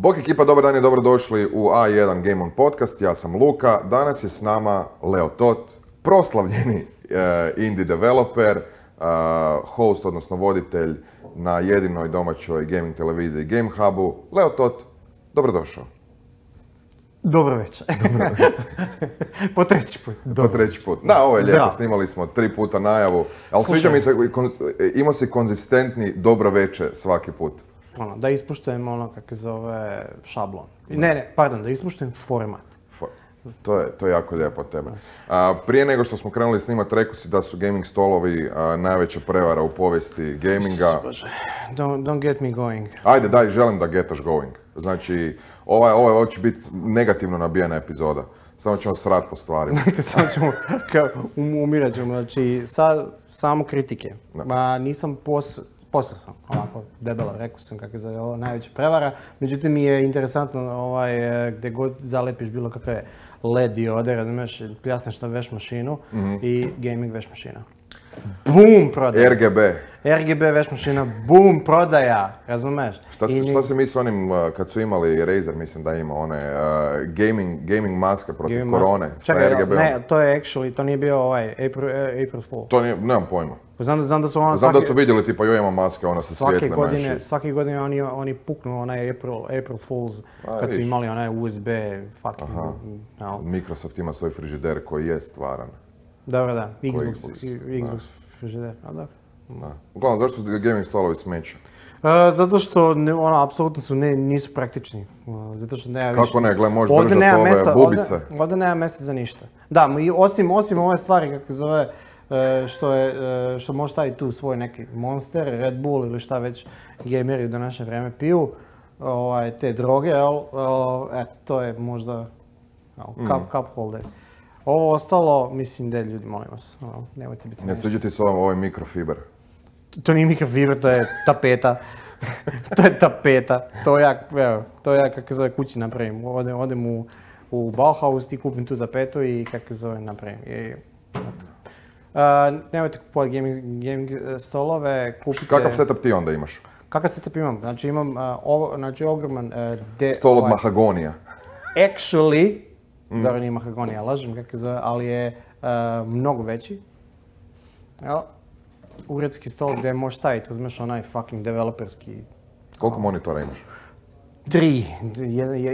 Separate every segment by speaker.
Speaker 1: Bok ekipa, dobar dan i dobrodošli u A1 Game On Podcast. Ja sam Luka, danas je s nama Leo Tot, proslavljeni indie developer, host, odnosno voditelj na jedinoj domaćoj gaming televiziji Game Hubu. Leo Tot, dobrodošao.
Speaker 2: Dobro večer. Po treći put.
Speaker 1: Po treći put. Da, ovo je lijepo, snimali smo 3 puta najavu, ali sviđa mi se, imao si konzistentni dobro večer svaki put.
Speaker 2: Da ispuštujem ono kako zove šablon. Da ispuštujem format.
Speaker 1: To je jako lijepo od tebe. Prije nego što smo krenuli snimati, rekao si da su gaming stolovi najveća prevara u povijesti gaminga.
Speaker 2: Bože, don't get me going.
Speaker 1: Ajde, daj, želim da getaš going. Znači, ovo će biti negativno nabijena epizoda. Samo ćemo srat po stvarima.
Speaker 2: Samo ćemo, umirat ćemo. Znači, samo kritike. Nisam postao sam onako debelo, rekao sam kako je ovo najveća prevara. Međutim, mi je interesantno gdje god zalepiš bilo kakve LED diode, razumiješ, pljasneš na veš mašinu i gaming veš mašina. Bum, prodaja. RGB veš mašina, bum, prodaja, razumiješ.
Speaker 1: Šta se misli onim, kad su imali Razer, mislim da ima one gaming maske protiv korone sa RGB-om?
Speaker 2: Ne, to je actually, to nije bio April Fool.
Speaker 1: To nije, nemam pojma.
Speaker 2: Znam da su
Speaker 1: su vidjeli tipa joj ima maske, ona sa svijetle menši.
Speaker 2: Svake godine oni puknu onaj April Fools kad su imali onaj USB fucking...
Speaker 1: Microsoft ima svoj frižider koji je stvaran.
Speaker 2: Dobro, da. Xbox frižider, a dobro.
Speaker 1: Uglavnom, zašto su gaming stolovi smeće?
Speaker 2: Zato što apsolutno nisu praktični. Zato što nema više.
Speaker 1: Kako ne, gle, možeš držati ove bubice.
Speaker 2: Ovdje nema mjesta za ništa. Da, osim ove stvari, kako zove, što može staviti tu svoj neki Monster, Red Bull ili šta već gameri u današnje vrijeme piju, te droge, eto, to je možda cup holder. Ovo ostalo, mislim da ljudi, molim vas, nemojte biti smiješni.
Speaker 1: Ne sviđa ti se ovaj mikrofiber?
Speaker 2: To nije mikrofiber, to je tapeta. To je tapeta. To ja kako zove kući napravim. Odem u Bauhaus i kupim tu tapetu i kako zove napravim. Nemojte kupovati gaming stolove, kupite...
Speaker 1: Kakav setup ti onda imaš?
Speaker 2: Kakav setup imam? Znači imam ogroman...
Speaker 1: Stol od mahagonija.
Speaker 2: Actually, dobro nije mahagonija, lažem kako zove, ali je mnogo veći. Uredski stol gdje možeš staviti, uzmeš onaj fucking developerski...
Speaker 1: Koliko monitora imaš?
Speaker 2: 3.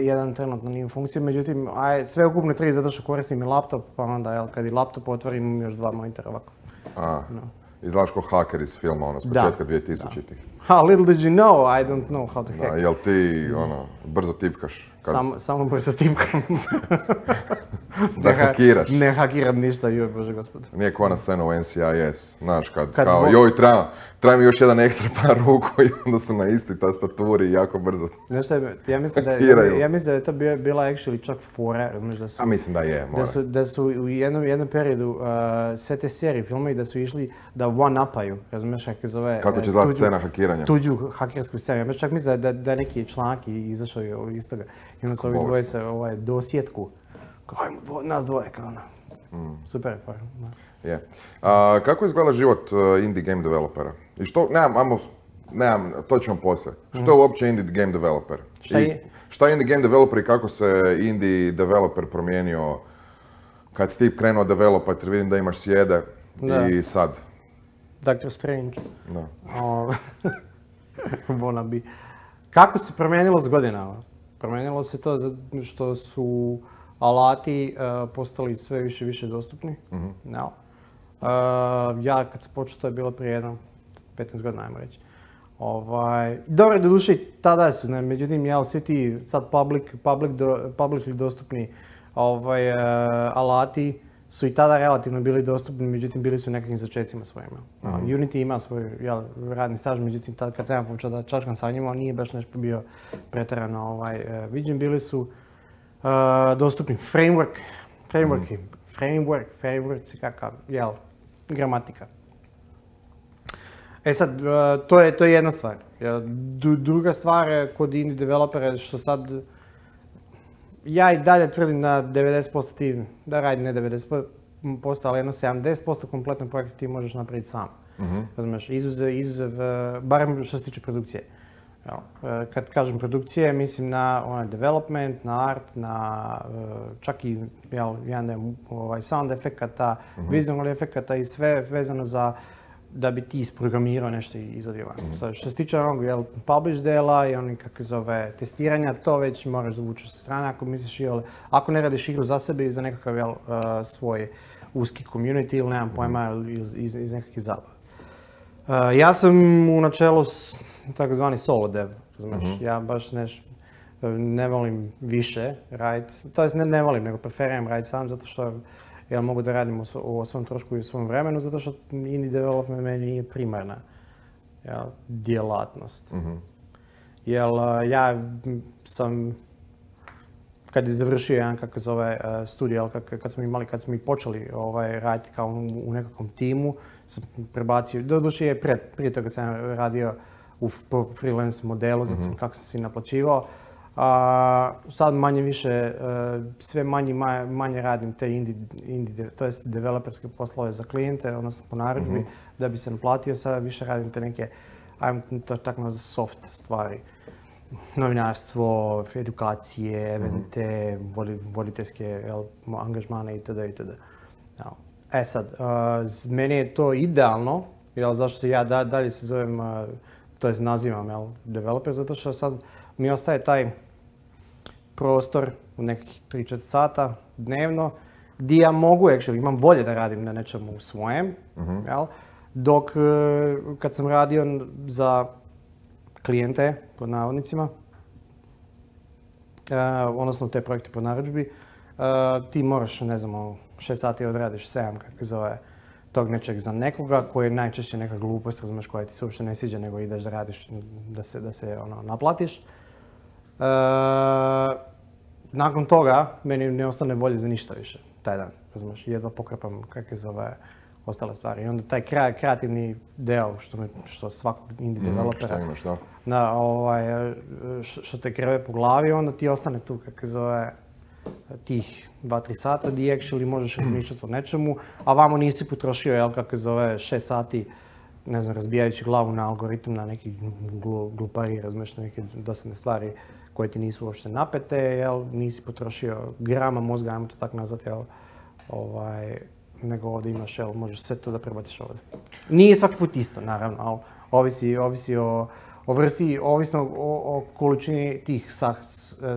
Speaker 2: Jedan trenutno nije u funkciji, međutim, sve ukupno 3 zato što koristim i laptop, pa onda kad i laptop otvorim imam još 2 monitora ovako.
Speaker 1: Izgledaš ko haker iz filma, s početka 2000-ih.
Speaker 2: Little did you know, I don't know how to hack.
Speaker 1: Jel ti, brzo tipkaš?
Speaker 2: Samo brzo tipkam.
Speaker 1: Da hakiraš?
Speaker 2: Ne hakiram ništa, joj bože gospode.
Speaker 1: Nije ko na scenu u NCIS, znaš, kao joj treba mi još jedan ekstra par ruku i onda su na isti tastaturi jako brzo hakiraju.
Speaker 2: Ja mislim da je to bila actually čak fora, razumiješ da su...
Speaker 1: A mislim da je, mora.
Speaker 2: Da su u jednom periodu sve te serije, filmovi da su išli da one-upaju, razumiješ kako zove...
Speaker 1: Kako će zvati scena hakiranja?
Speaker 2: Tuđu hakersku scenu. Ja čak mislim da je neki članak izašao iz toga. I onda su ovi dvoje se dosjetku. Kao nas dvoje, kao ono. Super je fora.
Speaker 1: Je. Kako izgleda život indie game developera? I što, nemam, to ćemo poslije. Što je uopće indie game developer? Šta je indie game developer i kako se indie developer promijenio kad si ti krenuo developat jer vidim da imaš sjede i sad?
Speaker 2: Doctor Strange.
Speaker 1: Da.
Speaker 2: Wannabe. Kako se promijenilo s godinama? Promijenilo se to zato što su alati postali sve više dostupni. Ja kad sam počeo, to je bilo prije 15 godina, ajmo reći. Dobro, do duše i tada su, međutim, svi ti sad publicly dostupni alati su i tada relativno bili dostupni, međutim bili su u nekakvim začecima svojima. Unity ima svoj radni staž, međutim tad kad sam počeo da čačkam sa njima, nije baš nešto bio pretjerano viđen. Bili su dostupni frameworks, kakav, gramatika. Sad, to je jedna stvar. Druga stvar kod indie developera što sad ja i dalje tvrdim da 90% ti, da radi ne 90%, ali jedno 70% kompletnog projekta ti možeš napraviti sam. Razumiješ, izuzev, barem što se tiče produkcije. Kad kažem produkcije, mislim na development, na art, na čak i jedan sound efekata, vizualnih efekata i sve vezano za da bi ti isprogramirao nešto i izvodio van. Što se tiče onog publish dela i onih testiranja, to već moraš dovući sa strane ako misliš ako ne radiš igru za sebe i za nekakav svoj uski community ili nemam pojma iz nekakvih zabava. Ja sam u načelu takozvani solo dev, razumiješ. Ja baš ne volim više raditi, to jest ne volim, nego preferiram raditi sam zato što ja mogu da radim o svom trošku i o svom vremenu, zato što indie development meni nije primarna djelatnost. Jer ja sam, kad je završio jedan studij, kad smo i počeli raditi kao u nekakvom timu, sam prebacio, doduše je prije toga sam radio u freelance modelu, zato kako sam se naplaćivao. Sad manje više, sve manje radim te indie, to jest developerske poslove za klijente, odnosno po narudžbi, da bi se naplatio, sad više radim te neke, ajmo to tako nazvati soft stvari. Novinarstvo, edukacije, evente, voditeljske angažmane itd. Sad, meni je to idealno, zašto se ja dalje se zovem, to jest nazivam developer, zato što sad mi ostaje taj prostor u nekih 3-4 sata dnevno gdje ja mogu, imam volje da radim na nečemu svojem, dok kad sam radio za klijente, pod navodnicima, odnosno te projekte po narudžbi, ti moraš, 6 sati odradiš 7, kako se zove, tog nečeg za nekoga koji je najčešće neka glupost, razumiješ, koja ti se uopšte ne sviđa, nego ideš da radiš, da se naplatiš. Nakon toga, meni ne ostane volje za ništa više, taj dan, razumiješ, jedva pokrpam kakve zove ostale stvari. I onda taj kreativni deo što svakog indie developera, što te kreve po glavi, onda ti ostane tu, kako zove, tih 2-3 sata gdje actually možeš razmišljati o nečemu, a vamo nisi potrošio, kako zove, 6 sati, razbijajući glavu na algoritam, na neki glupari, razumiješ, neke dosadne stvari koje ti nisu uopšte napete, nisi potrošio grama mozga, ajmo to tako nazvati, nego ovdje imaš, možeš sve to da prebaciš ovdje. Nije svaki put isto, naravno, ali ovisi o vrsti, ovisno o količini tih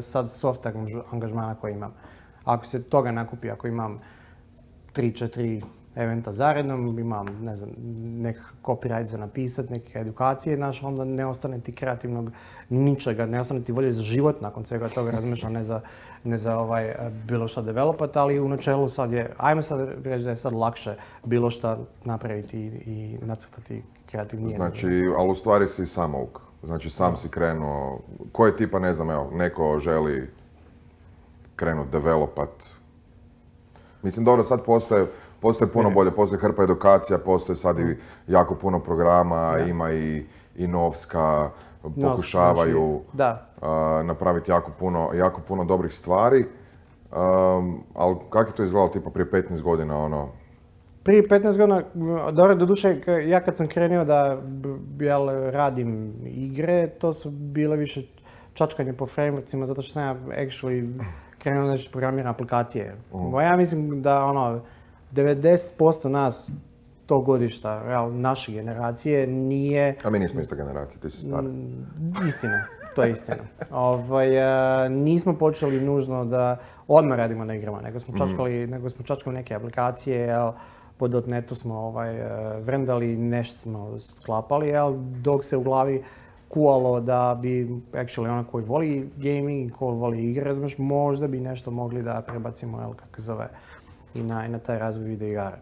Speaker 2: sad soft angažmana koje imam. Ako se toga nakupi, ako imam 3-4 eventa zarednom, imam, nekakav copyright za napisat, neke edukacije, onda ne ostane ti kreativnog ničega, ne ostane ti volje za život nakon svega toga, razumiješ, ne za bilo šta developat, ali u načelu sad je, ajmo sad reći da je sad lakše bilo šta napraviti i nacrtati kreativnije.
Speaker 1: Znači, ali u stvari si samouk. Znači, sam si krenuo, koje tipa, neko želi krenuti developat. Mislim, dobro, sad postoje puno bolje, postoje hrpa edukacija, postoje sad i jako puno programa, ima i Novska, pokušavaju napraviti jako puno dobrih stvari. Ali kako je to izgledalo tipa prije 15 godina,
Speaker 2: Prije 15 godina, dobro, doduše, ja kad sam krenuo da radim igre, to su bile više čačkanje po frameworksima, zato što sam ja actually krenuo da programiram aplikacije. Ja mislim da 90% nas tog godišta, naše generacije, nije...
Speaker 1: A mi nismo ista generacija, ti si stara.
Speaker 2: Istina, to je istina. Nismo počeli nužno da odmah radimo na igrama, nego smo čačkali neke aplikacije, po .NET-u smo vrendali, nešto smo sklapali, dok se u glavi kualo da bi, actually, ona koji voli gaming, koji voli igre, razumiješ, možda bi nešto mogli da prebacimo, kako zove, i na taj razvoj video igara.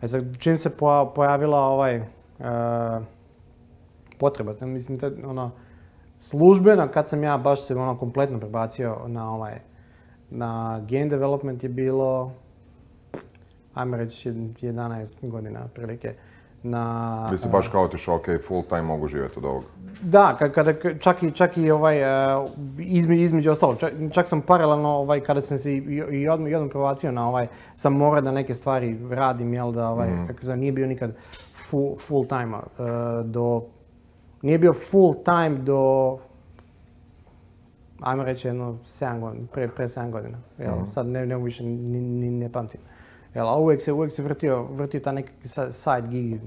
Speaker 2: Sad, čim se pojavila potreba, mislim, službeno, kad sam ja baš se kompletno prebacio na game development je bilo, ajmo reći, 11 godina prilike.
Speaker 1: Vi si baš kao otišao, ok, full time mogu živjeti od ovoga.
Speaker 2: Da, čak i između ostalo, čak sam paralelno, kada sam se i odmah prebacio na sam morao da neke stvari radim, kako se nije bio nikad full time, nije bio full time do ajmo reći jedno 7 godina, pre 7 godina. Sad ne više ni ne pamtim. A uvijek se vrtio ta neki side gig,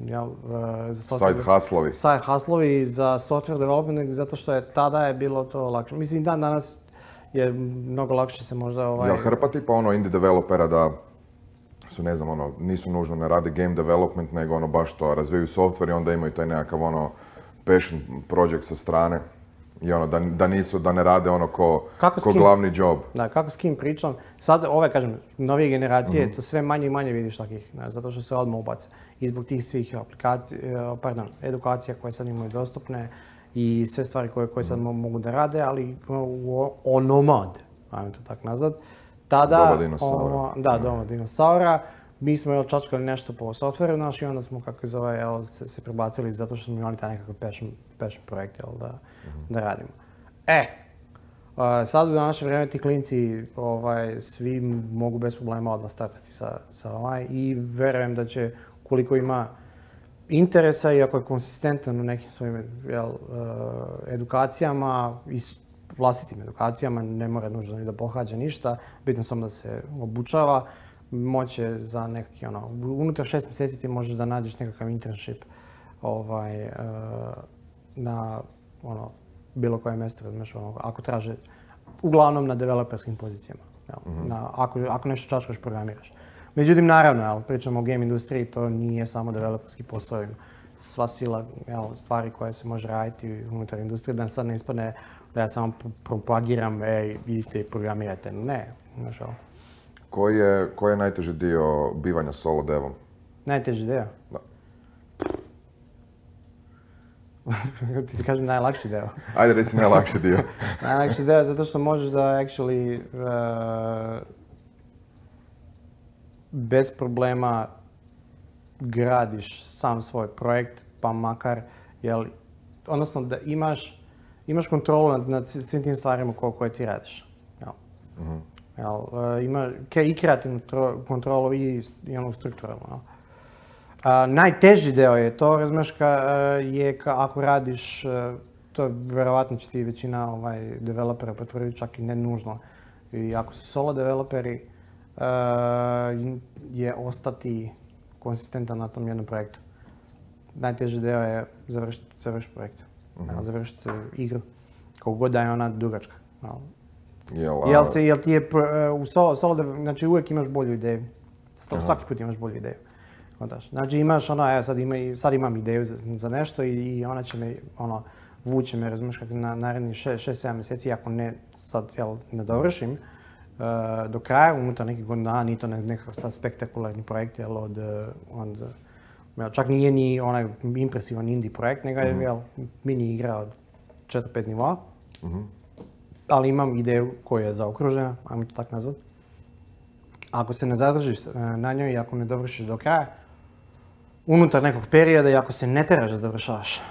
Speaker 2: za
Speaker 1: software. Side hustlovi.
Speaker 2: Side hustlovi za software development, zato što tada je bilo to lakše. Mislim, danas je mnogo lakše se možda
Speaker 1: Jel hrpa tipa indie developera da su, ne znam, nisu nužno ne rade game development, nego baš to razvijaju software i onda imaju taj nekakav passion project sa strane. I da ne rade ko glavni job.
Speaker 2: Da, kako s kim pričam. Sad kažem, novije generacije, to sve manje i manje vidiš takih, zato što se odmah ubace. I zbog tih svih edukacija koje sad imaju dostupne i sve stvari koje sad mogu da rade, ali onomad, ajmo to tako nazvat.
Speaker 1: Doba dinosaura.
Speaker 2: Doba dinosaura. Mi smo čačkali nešto po softveru i onda smo, se prebacili zato što smo imali taj nekakav passion projekt, da radimo. Sad u današnje vrijeme ti klinci svi mogu bez problema odmah startati sa i verujem da će, koliko ima interesa i ako je konsistentan u nekim svojim edukacijama i vlastitim edukacijama, ne mora nužno ni da pohađa ništa, bitno samo da se obučava, moće za nekakvi, unutar 6 mjeseci ti možeš da nađeš nekakav internship na bilo koje mjesto, ako traže, uglavnom na developerskim pozicijama, ako nešto čačkaš, programiraš. Međutim, naravno, pričamo o game industriji, to nije samo developerski posao, sva sila stvari koje se može raditi unutar industrije, da sad ne ispadne da ja samo propagiram, idite i programirajte, ne, znaš ovo.
Speaker 1: Koji je najteži dio bivanja solo devom?
Speaker 2: Najteži dio?
Speaker 1: Da.
Speaker 2: Ti kažem najlakši dio.
Speaker 1: Ajde, reci najlakši dio.
Speaker 2: Najlakši dio je zato što možeš da actually bez problema gradiš sam svoj projekt, pa makar, odnosno da imaš kontrolu nad svim tim stvarima koje ti radiš. Ima i kreativnu kontrolu i strukturalnu. Najteži deo je to, razumiješ, ako radiš, to vjerovatno će ti većina developera potvrditi, čak i ne nužno. I ako su solo developeri, je ostati konsistentan na tom jednom projektu. Najteži deo je završiti projekt, završiti igru, kako god da je ona dugačka. Jel ti je u solo, znači uvijek imaš bolju ideju. Svaki put imaš bolju ideju. Znači imaš sad imam ideju za nešto i ona će me, vuče me, razumiješ, kako na narednih 6-7 mjeseci, ako ne sad, ne dovršim do kraja, unutar nekih godina, nije to nekakav spektakularni projekt, čak nije ni onaj impresivan indie projekt, nego je mini igra od 4-5 nivoa. Ali imam ideju koja je zaokružena, ajmo to tako nazvat. Ako se ne zadržiš na njoj i ako ne dovršiš do kraja, unutar nekog perioda i ako se ne teraš da dovršavaš,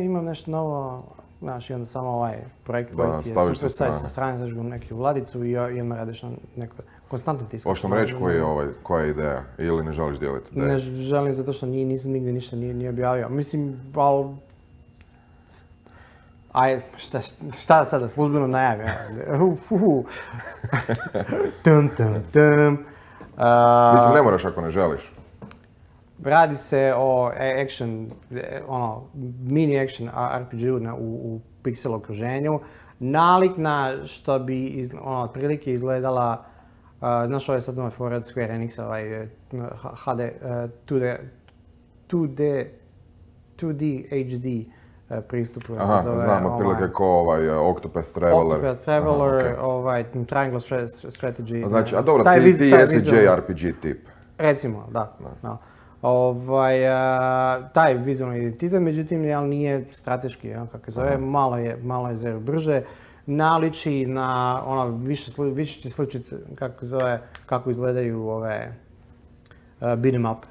Speaker 2: imam nešto novo, znaš, i onda samo ovaj projekt koji ti je super, staviš sa strane, staviš ga u neku ladicu i onda radiš na neko konstantno tiskanje.
Speaker 1: Hoćeš nam reći koja je ideja ili ne želiš dijeliti ideju?
Speaker 2: Ne želim zato što nisam nigdje ništa nije objavio. Mislim, ali šta sada, službeno najavim.
Speaker 1: Mislim, ne moraš ako ne želiš.
Speaker 2: Radi se o action, mini action RPG-u u pixel okruženju. Nalik na što bi otprilike izgledala, znaš ovo je sad nove fora od Square Enixa, HD, 2D HD pristupu.
Speaker 1: Aha, znam, otprilike ko Octopath Traveler.
Speaker 2: Octopath Traveler, Triangle Strategy.
Speaker 1: Znači, a dobro, ti jesi JRPG tip.
Speaker 2: Recimo, da. Taj vizualni identitet, međutim, nije strateški, kako se zove, malo je zero brže. Naliči na, više će sličiti, kako izgledaju ove beat'em up.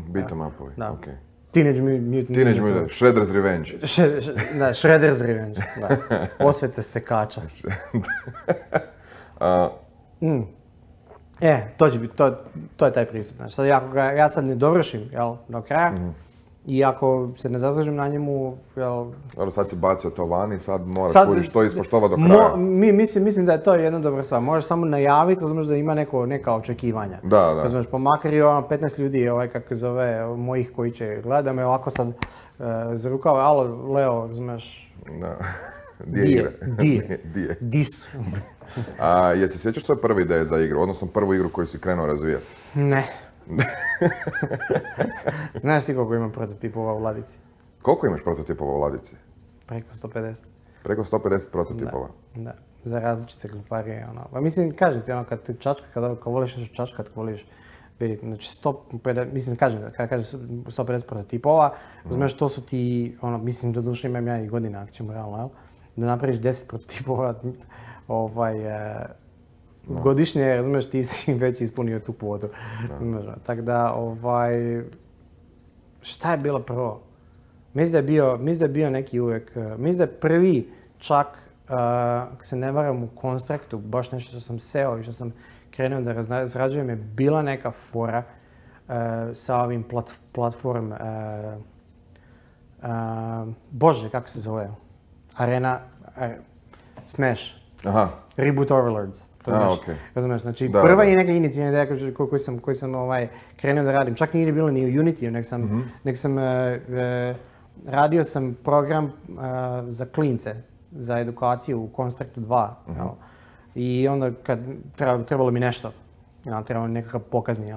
Speaker 1: Beat'em upovi, okej.
Speaker 2: Teenage Mutant.
Speaker 1: Shredder's Revenge.
Speaker 2: Da, Shredder's Revenge, da. Osvete sekača. To će biti, to je taj pristup. Znači, sad, ako ja sad ne dovršim, do kraja, I ako se ne zadržim na njemu, jel...
Speaker 1: Dobro, sad si bacio to van i sad moraš kužiš to ispoštovati do kraja.
Speaker 2: Mislim da je to jedna dobra stvar. Možeš samo najaviti, razumiješ da ima neka očekivanja.
Speaker 1: Da.
Speaker 2: Razumiješ, pa makar i 15 ljudi, kako zove, mojih koji će gledati, me ovako sad za rukava, alo, Leo, razumiješ...
Speaker 1: Di
Speaker 2: Dis.
Speaker 1: Jesi sjećaš svoje prve ideje za igru, odnosno prvu igru koju si krenuo razvijati?
Speaker 2: Ne. Znaš ti koliko imam prototipova u ladici?
Speaker 1: Koliko imaš prototipova u ladici?
Speaker 2: Preko 150.
Speaker 1: Preko 150 prototipova?
Speaker 2: Da, za različite gluparije. Pa mislim, kažem ti, kad ti čačka, kad voliš nešto čačkat, kad voliš vidjeti, znači 150, mislim, kad kažeš 150 prototipova, znaš, to su ti, mislim, doduše imam ja i godina, ako ćemo realno, jel? Da napraviš 10 prototipova, godišnje, razumiješ, ti si već ispunio tu kvotu. Tako da, šta je bilo prvo? Mislim da je bio neki uvijek, mislim da je prvi čak, ako se ne varam u Constructu, baš nešto što sam seo i što sam krenuo da razrađujem je bila neka fora sa ovim platform, bože, kako se zove? Arena, Smash.
Speaker 1: Aha.
Speaker 2: Reboot Overlords.
Speaker 1: Okay.
Speaker 2: Razumiješ, znači prva je neka inicijalna ideja koju sam krenuo da radim. Čak nije bilo ni u Unity, nek sam radio sam program za klince, za edukaciju u Constructu 2. I onda kad trebalo mi nešto, trebalo mi nekakav pokazni,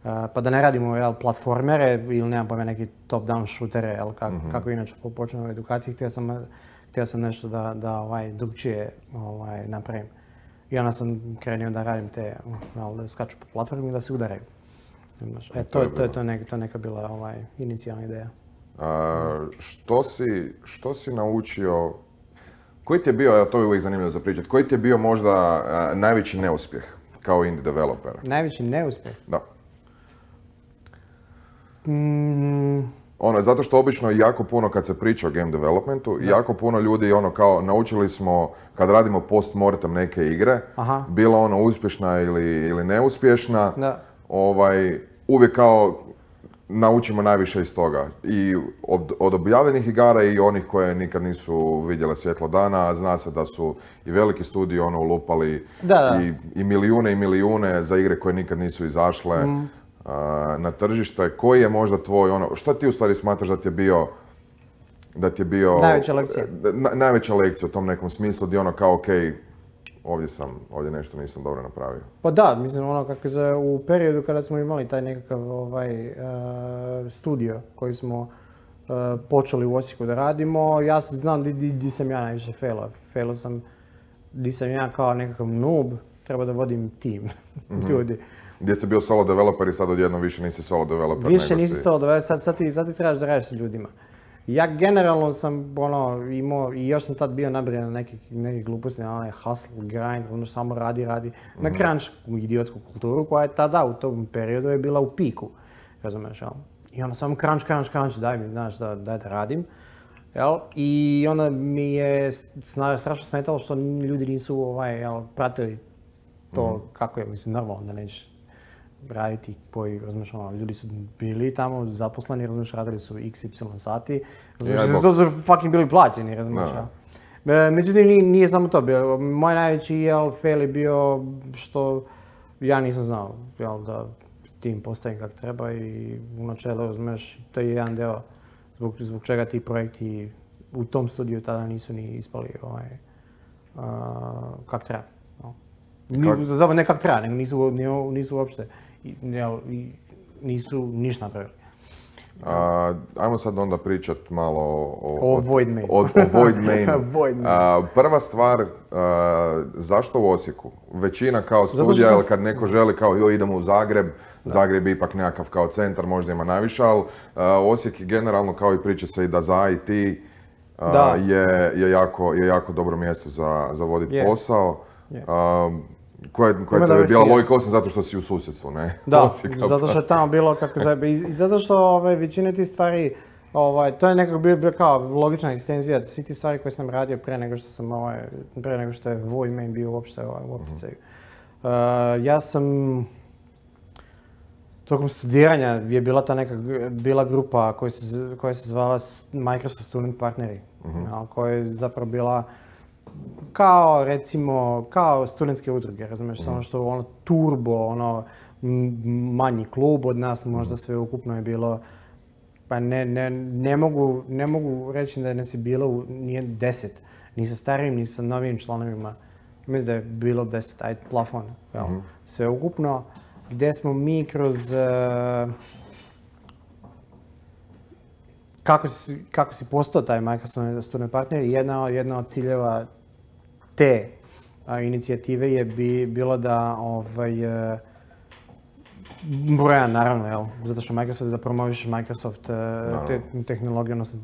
Speaker 2: pa da ne radimo platformere ili nemam pojma neki top-down shootere, kako inače počnem u edukaciji, htio sam nešto da drugčije napravim. I onda sam krenuo da radim te, da skaču po platformi i da se udaraju. To je neka bila inicijalna ideja.
Speaker 1: Što si naučio, koji ti je bio, to je uvijek zanimljivo za pričati, koji ti je bio možda najveći neuspjeh kao indie developer?
Speaker 2: Najveći neuspjeh?
Speaker 1: Da. Zato što obično jako puno kad se priča o game developmentu, jako puno ljudi kao naučili smo kad radimo post-mortem neke igre, bila uspješna ili neuspješna, uvijek kao naučimo najviše iz toga. I od objavljenih igara i onih koje nikad nisu vidjele svjetlo dana, zna se da su i veliki studiji ulupali i milijune za igre koje nikad nisu izašle. Na tržište, koji je možda tvoj, šta ti u stvari smatraš da ti je bio...
Speaker 2: Najveća lekcija.
Speaker 1: Najveća lekcija u tom nekom smislu gdje kao, okej, ovdje nešto nisam dobro napravio.
Speaker 2: Pa da, mislim, u periodu kada smo imali taj nekakav studio koji smo počeli u Osijeku da radimo, ja znam di sam ja najviše failao. Failao sam di sam ja kao nekakav noob, treba da vodim tim ljudi.
Speaker 1: Gdje si bio solo developer i sad odjednom više nisi solo developer.
Speaker 2: Više nisi solo developer, sad ti trebaš da radiš s ljudima. Ja generalno sam imao, i još sam tad bio nabrijan na neke gluposti, na hustle, grind, samo radi, na crunch, idiotsku kulturu koja je tada u tom periodu je bila u piku, razumiješ, jel? I onda samo crunch, daj mi, znaš, daj da radim, jel? I onda mi je strašno smetalo što ljudi nisu pratili to kako je, mislim, normalno da nećeš raditi koji, razumiješ, ljudi su bili tamo zaposleni, razumiješ, radili su XY sati, razumiješ, to su fucking bili plaćeni, razumiješ. Međutim, nije samo to bio. Moj najveći fail je bio što ja nisam znao da tim postavim kako treba i u načelu, razumiješ, to je jedan deo zbog čega ti projekti u tom studiju tada nisu ni ispali kako treba. Zapravo ne kako treba, nego nisu uopšte, nisu ništa napravili.
Speaker 1: Ajmo sad onda pričat malo
Speaker 2: o Void Main.
Speaker 1: O Void Mainu. Prva stvar, zašto u Osijeku? Većina kao studija, ili kad neko želi kao idemo u Zagreb, Zagreb je ipak nekakav kao centar, možda ima najviše, ali Osijek je generalno kao i priča se i da za IT je jako dobro mjesto za voditi posao. Koja je bila logika osim zato što si u susjedstvu, ne?
Speaker 2: Da, zato što je tamo bilo kako zebe. I zato što većina tih stvari, to je nekako bio kao logična ekstenzija svi ti stvari koje sam radio prije nego što je Void Main bio uopšte u opticaju. Ja sam tokom studiranja je bila ta bila grupa koja se zvala Microsoft Student Partneri, koja je zapravo bila kao, recimo, kao studentske udruge, razumiješ, samo što ono turbo, manji klub od nas, možda sve ukupno je bilo, pa ne mogu reći da ne si bilo, nije 10, ni sa starijim, ni sa novim članovima. Mislim da je bilo 10, ajde, plafon, sve ukupno, gdje smo mi kroz, kako si postao taj Microsoft Student Partner, jedna od ciljeva te inicijative je bilo da brojan, naravno, zato što Microsoft da promoviš Microsoft te tehnologije, odnosno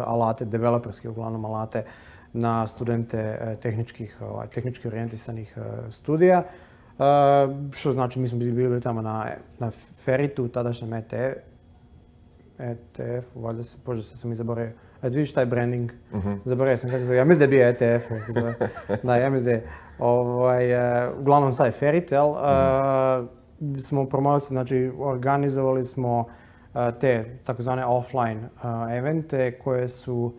Speaker 2: alate, developerske uglavnom alate na studente tehnički orijentisanih studija. Što znači, mi smo bili tamo na Feritu, tadašnjem ETF, valjda se, bože, sad sam i zaboravio. Vidiš taj branding, zaboravio sam kako se zove, ja mislim da je bio ETF, da, ja mislim da je, uglavnom sad je Ferit, jel, smo promovili, znači organizovali smo te takozvane offline evente koje su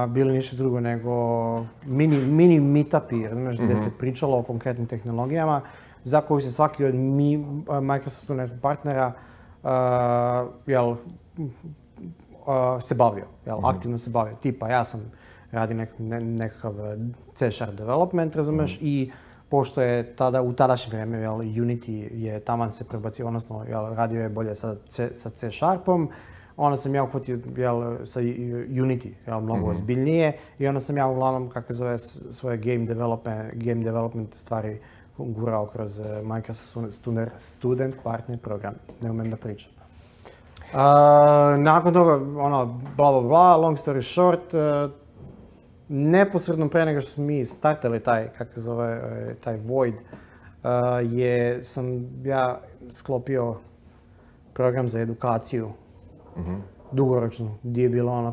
Speaker 2: bili ništa drugo nego mini meetupi, razumiješ, gdje se pričalo o konkretnim tehnologijama za koju se svaki od Microsoft Student partnera se bavio, aktivno se bavio. Tipa, ja sam radi nekakav C# development, razumiješ, i pošto je u tadašnje vrijeme Unity je taman se prebacio, odnosno radio je bolje sa C#, onda sam ja uhvatio sa Unity, mnogo ozbiljnije, i onda sam ja uglavnom, kako zove, svoje game development stvari gurao kroz Microsoft Student Partner program, ne umem da pričam. Nakon toga, bla bla bla, long story short, neposredno pre nego što smo mi startali taj Void, sam ja sklopio program za edukaciju, dugoročno, gdje je bilo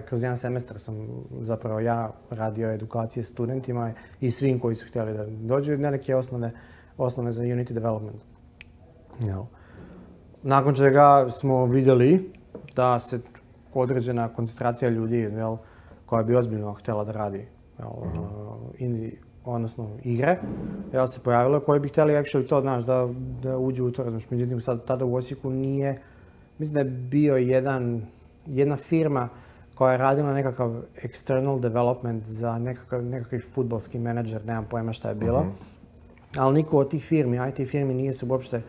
Speaker 2: kroz jedan semestar sam zapravo ja radio edukacije studentima i svim koji su htjeli da dođu na neke osnove za Unity development. Nakon čega smo vidjeli da se određena koncentracija ljudi koja bi ozbiljno htjela da radi odnosno igre, se pojavilo koji bi htjeli actually to, znaš, da uđu u to, razumiješ. Međutim, sad tada u Osijeku nije, mislim da je bio jedna firma koja je radila nekakav external development za nekakav fudbalski menadžer, nemam pojma šta je bilo, ali niko od tih firmi, IT firmi nije se uopšte,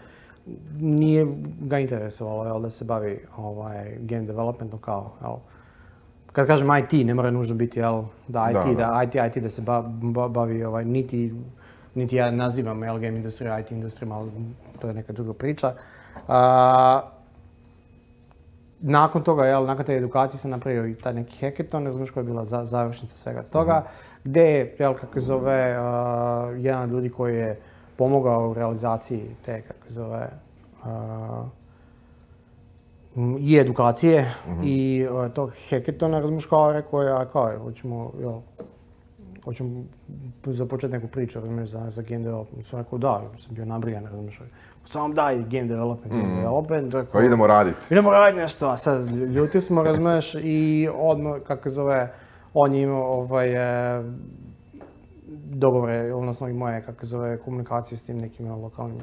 Speaker 2: nije ga interesovalo da se bavi game developmentom kao, kad kažem IT, ne mora nužno biti IT da se bavi, niti ja nazivam game industriju, IT industrijom, ali to je neka druga priča. Nakon toga, nakon te edukacije sam napravio i taj neki hackathon, ne znaš koja je bila završnica svega toga, gdje je, kako se zove, jedan od ljudi koji je pomogao u realizaciji te, kako se zove, i edukacije i tog hackathona, razumiješ, rekao je, hoćemo započeti neku priču, razumiješ, za game development. Sam rekao da, sam bio nabrijan, razumiješ, samo daj game development.
Speaker 1: Pa idemo raditi.
Speaker 2: Idemo raditi nešto, a sad ljuti smo, razumiješ, i odmah, kako zove, on je imao dogovore, odnosno i moje, kako zove, komunikaciju s tim nekim lokalnim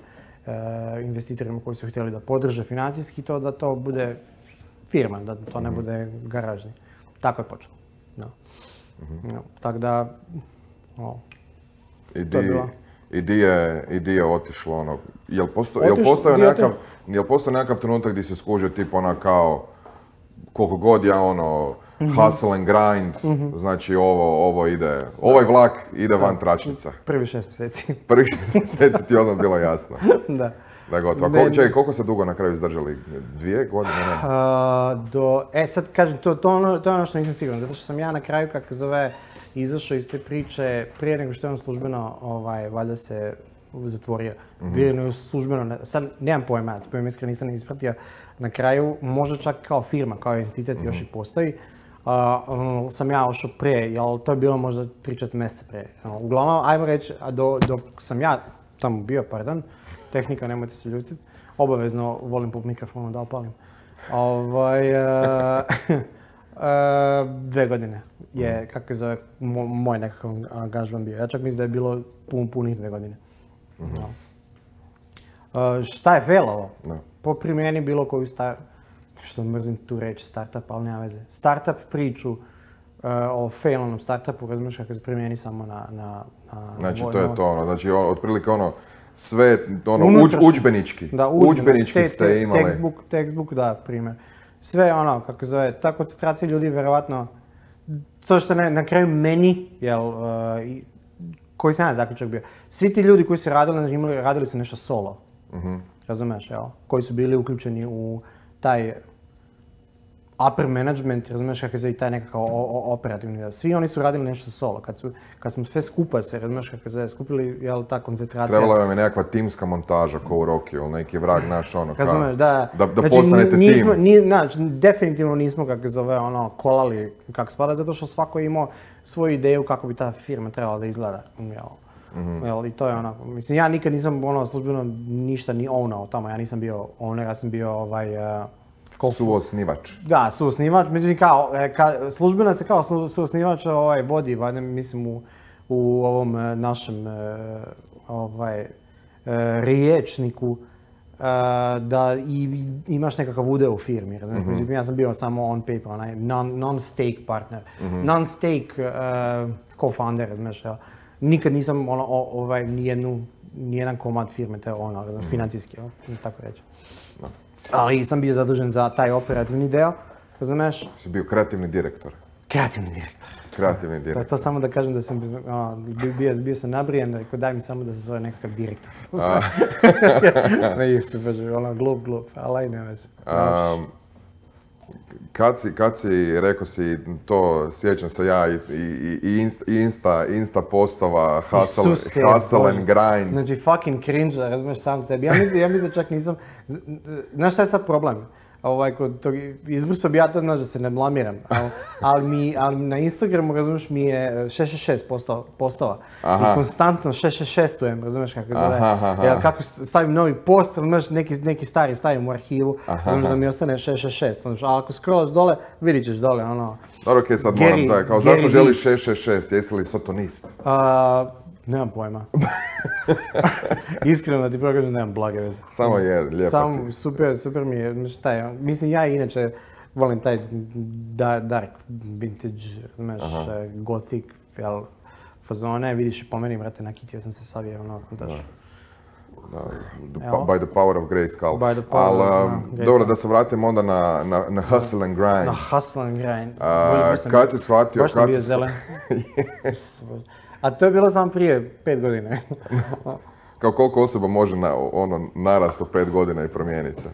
Speaker 2: investitorima koji su htjeli da podrže financijski to, da to bude firma, da to ne bude garažni. Tako je počelo. Tako da,
Speaker 1: I di je otišlo jel postoji nekakav trenutak gdje se skužio tip kao koliko god ja hustle and grind, znači ovo ide, ovaj vlak ide van tračnica.
Speaker 2: Prvi 6 mjeseci.
Speaker 1: Prvih 6 mjeseci ti je odmah bilo jasno.
Speaker 2: Da.
Speaker 1: Da je gotovo. Koliko se dugo na kraju izdržali? 2 godine?
Speaker 2: Sad kažem, to je ono što nisam siguran, zato što sam ja na kraju, kako zove, izašao iz te priče prije nego što je on službeno, valjda se zatvorio. Prije nego službeno, sad nemam pojma, to iskreno nisam ispratio. Na kraju, možda čak kao firma, kao entitet još i postoji, sam ja ošao prije, jel to je bilo možda 3-4 mjeseca prije. Uglavnom, ajmo reći, dok sam ja tamo bio, tehnika, nemojte se ljutiti, obavezno volim po mikrofonu da opalim. 2 godine je, kako se zove, moj nekakav angažman bio. Ja čak mislim da je bilo punih 2 godine. Šta je failovo? Po primjeni bilo koju što mrzim tu reći startup, ali nema veze. Startup priču o failnom startupu, razumiješ kako se primjeni samo na
Speaker 1: znači to je to, znači otprilike sve udžbenički.
Speaker 2: Da,
Speaker 1: udžbenički ste imali.
Speaker 2: Textbook, da, primjer. Sve kako zove, ta koncentracija ljudi vjerovatno, to što na kraju meni, koji sam ja zaključak bio, svi ti ljudi koji su radili su nešto solo. Razumiješ, koji su bili uključeni u taj upper management, razumiješ kako je i taj nekakav operativni dio. Svi oni su radili nešto solo. Kad smo sve skupa se, razumiješ kako je skupili, ta koncentracija.
Speaker 1: Trebala vam je nekakva timska montaža ko u Rocky ili neki vrag naš
Speaker 2: razumiješ, da
Speaker 1: postanete tim.
Speaker 2: Znači, definitivno nismo kako zove kolali kako spada, zato što svako je imao svoju ideju kako bi ta firma trebala da izgleda. I to je mislim, ja nikad nisam službeno ništa ni ownao tamo, ja nisam bio owner, ja sam bio
Speaker 1: suosnivač.
Speaker 2: Da, suosnivač, međutim službeno se kao suosnivač vodi, mislim u ovom našem riječniku da imaš nekakav udeo u firmi. Međutim, ja sam bio samo on paper, onaj non-stake partner, non-stake co-founder, znaš, nikad nisam nijedan komad firme, te financijski, tako reći. Ali sam bio zadužen za taj operativni deo, razumiješ?
Speaker 1: Si bio kreativni direktor.
Speaker 2: Kreativni direktor. To samo da kažem da sam bio sam nabrijen, rekao daj mi samo da se zove nekakav direktor. Ne isto, glup, ali ne veze.
Speaker 1: Kad si, rekao si to, sjećam se ja i Insta postova, hustle and grind.
Speaker 2: Znači fucking cringe, razumiješ sam sebi. Ja mislim čak nisam, znaš šta je sad problem? Izbrisao bi ja to, znaš da se ne blamiram, ali na Instagramu, razumiješ, mi je 666 postova. I konstantno 666-ujem, razumiješ kako zove. Jer kako stavim novi post, razumiješ, neki stari stavim u arhivu, razumiješ da mi ostane 666. Ali ako scrollaš dole, vidit ćeš dole,
Speaker 1: Dobro, okej, sad moram da, kao zašto želiš 666, jesi li sotonist?
Speaker 2: Nemam pojma. Iskreno da ti prokažem, nemam blage veze.
Speaker 1: Samo je, lijepo ti.
Speaker 2: Super mi je, mislim, ja inače volim taj dark vintage, znaš, gothic, fazone, vidiš i po meni, brate, nakitio sam se savije, daš.
Speaker 1: By the power of Grayskull. Ali, dobro, da se vratim onda na hustle and grind.
Speaker 2: Na hustle and grind.
Speaker 1: Kad si shvatio...
Speaker 2: Baš sam bio zelen. A to je bilo samo prije 5 godina.
Speaker 1: Kao koliko osoba može narast u 5 godina i promijeniti se?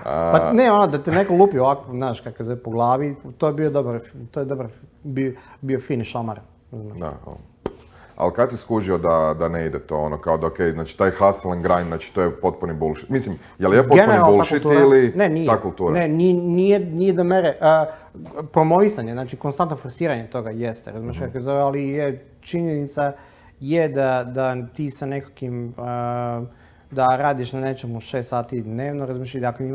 Speaker 2: Pa ne, da te neko lupi ovako, znaš, kako se po glavi, to je bio fini šamar.
Speaker 1: Da, ali kad si skužio da ne ide to, kao da okej, znači taj hustle and grind, znači to je potpuni bullshit. Mislim, je li je potpuni bullshit ili ta kultura?
Speaker 2: Ne, nije do mere. Promovisanje, znači konstantno forsiranje toga jeste, razumiješ kako zove, ali je činjenica je da ti sa nekakvim, da radiš na nečemu 6 sati dnevno, razumiješ, i dakle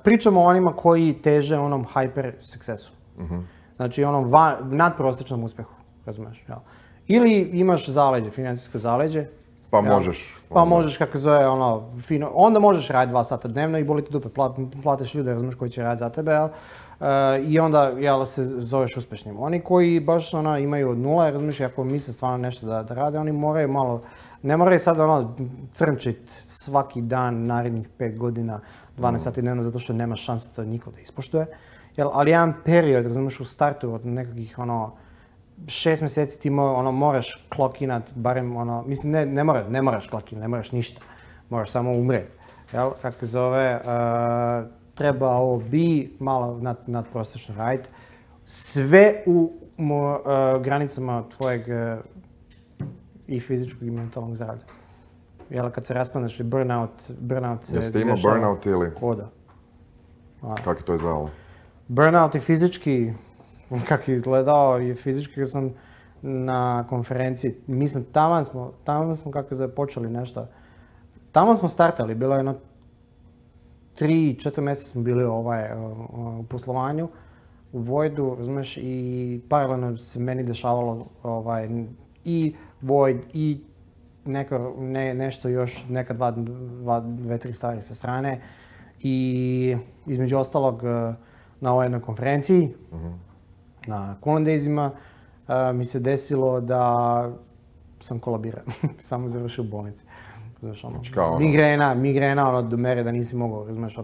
Speaker 2: pričamo o onima koji teže onom hyper sukcesu. Znači onom nadprosječnom uspjehu, razumiješ, jel? Ili imaš zaleđe, financijsko zaleđe.
Speaker 1: Pa možeš.
Speaker 2: Pa možeš, kako zove, fino. Onda možeš raditi 2 sata dnevno i boli ti dupe, platiš ljude, razumiješ, koji će raditi za tebe, i onda, se zoveš uspješnim. Oni koji baš imaju od nula, razumiješ, ako misle stvarno nešto da rade, oni moraju malo, ne moraju sad crnčit svaki dan narednih 5 godina, 12 sati dnevno, zato što nema šanse da niko da ispoštuje. Ali jedan period, razumiješ, u startu od nekakvih 6 mjeseci ti moraš klokinat, barem mislim ne moraš klokinat, ne moraš ništa, moraš samo umrijeti. Kako zove, trebao bi malo nadprosječno raditi, sve u granicama tvojeg i fizičkog i mentalnog zdravlja. Kad se raspadneš, burnout se dešava.
Speaker 1: Jeste imao burnout ili?
Speaker 2: Koda.
Speaker 1: Kako je to izgledalo?
Speaker 2: Burnout i fizički, kako je izgledao i fizički kad sam na konferenciji, mi smo taman smo kako se počeli nešto Tamo smo startali, bilo je jedno 3-4 mjeseca smo bili u poslovanju, u Voidu, razumiješ, i paralelno se meni dešavalo i Void i nešto još, neka dve, tri stvari sa strane. I između ostalog na ovoj jednoj konferenciji, na Coolant Daysima, mi se desilo da sam kolabirao, samo završio u bolnici. Znaš, migrena do mere da nisi mogao, razumiješ,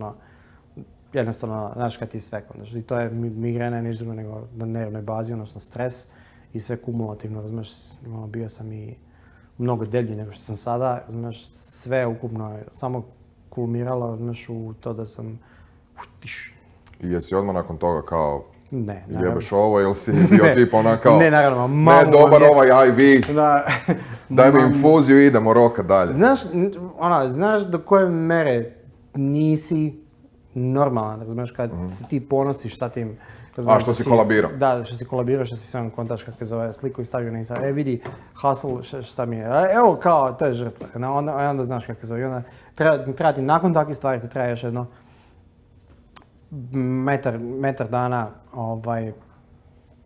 Speaker 2: jednostavno, znaš kad ti je sve. I to je migrena ništa drugo nego na nervnoj bazi, odnosno stres i sve kumulativno, razumiješ, bio sam i mnogo deblji nego što sam sada, razumiješ, sve ukupno je samo kulmiralo, razumiješ, u to da sam
Speaker 1: I jesi odmah nakon toga kao
Speaker 2: ne,
Speaker 1: jebeš ovo ili si bio tip ona kao
Speaker 2: ne, naravno,
Speaker 1: ne, dobar ovaj IV, daj mi infuziju i idemo roka dalje.
Speaker 2: Znaš do koje mere nisi normalan, razumiješ, kad se ti ponosiš sa tim.
Speaker 1: A što si kolabirao?
Speaker 2: Da, što si kolabirao, što si sam kontaš kako zove sliku i stavio na Instagram. Vidi, hustle, šta mi je. Evo kao, to je žrtva. Onda znaš kako zove. Onda treba ti nakon takvih stvari, ti treba još jedno metar dana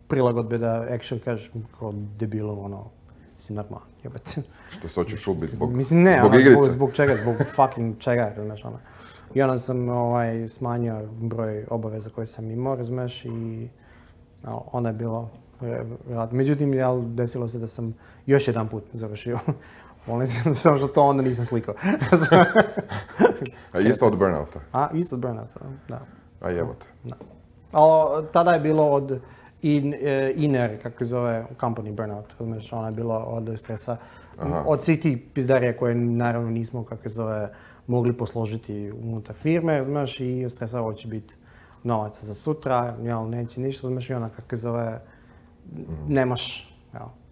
Speaker 2: prilagodbe da actually kažeš kao debilu, si normalan, jebate.
Speaker 1: Što se hoćeš ubiti zbog
Speaker 2: igrice? Zbog čega, zbog fucking čega, znaš, I onda sam smanjio broj obaveza koje sam imao, razumiješ, i onda je bilo vjerojatno. Međutim, desilo se da sam još jedan put završio. Samo što to onda nisam slikao.
Speaker 1: A isto od burnouta?
Speaker 2: Isto od burnouta, da.
Speaker 1: A jebote.
Speaker 2: Da. Ali tada je bilo od inner, kako se zove, company burnout, razumiješ, ono je bilo od stresa. Od svih tih pizdarija koje naravno nismo, kako se zove, mogli posložiti unutar firme, razumiješ, i od stresa ovo će biti novaca za sutra, neće ništa, razumiješ, i ona, kako se zove, nemaš,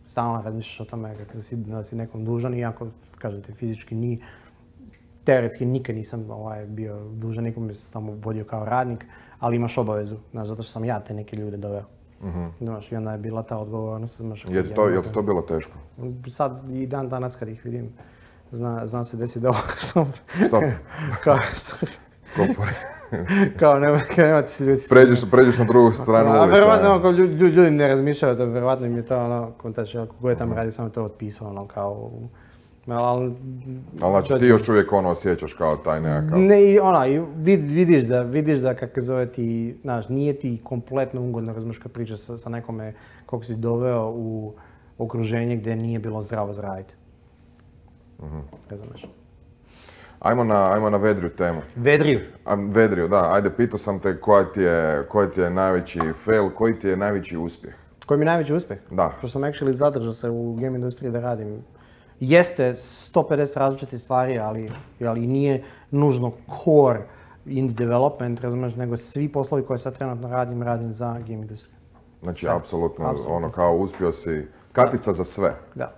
Speaker 2: stalno razmišljaš o tome da si nekom dužan, iako, kažem ti, fizički teoretski nikad nisam bio dužan, nikom bi se samo vodio kao radnik, ali imaš obavezu, znaš, zato što sam ja te neke ljude doveo. Znaš, i onda je bila ta odgovornost.
Speaker 1: Je li ti to bilo teško?
Speaker 2: Sad i dan danas kad ih vidim, znam se desi da ovako sam...
Speaker 1: Stop.
Speaker 2: Kao nemate se ljudi...
Speaker 1: Pređeš na drugu stranu ulice.
Speaker 2: Verovatno, ljudi ne razmišljaju, verovatno im je to, kako je tamo radi, samo to otpisao, kao...
Speaker 1: Ali znači ti još uvijek osjećaš kao taj nekakav...
Speaker 2: Ne, i vidiš da kako zove ti, znaš, nije ti kompletno ugodno, razumiješ, kad pričaš sa nekome kako si doveo u okruženje gdje nije bilo zdravo za raditi. Razumiješ.
Speaker 1: Ajmo na vedriju temu.
Speaker 2: Vedriju?
Speaker 1: Vedriju, da. Ajde, pitao sam te koji ti je najveći fail, koji ti je najveći uspjeh?
Speaker 2: Koji mi je najveći uspjeh?
Speaker 1: Da.
Speaker 2: Što sam actually zadržao se u game industriji da radim. Jeste 150 različitih stvari, ali nije nužno core indie development, razumiješ, nego svi poslovi koje sad trenutno radim za game industriju.
Speaker 1: Znači, apsolutno, ono kao uspio si, katica za sve.
Speaker 2: Da.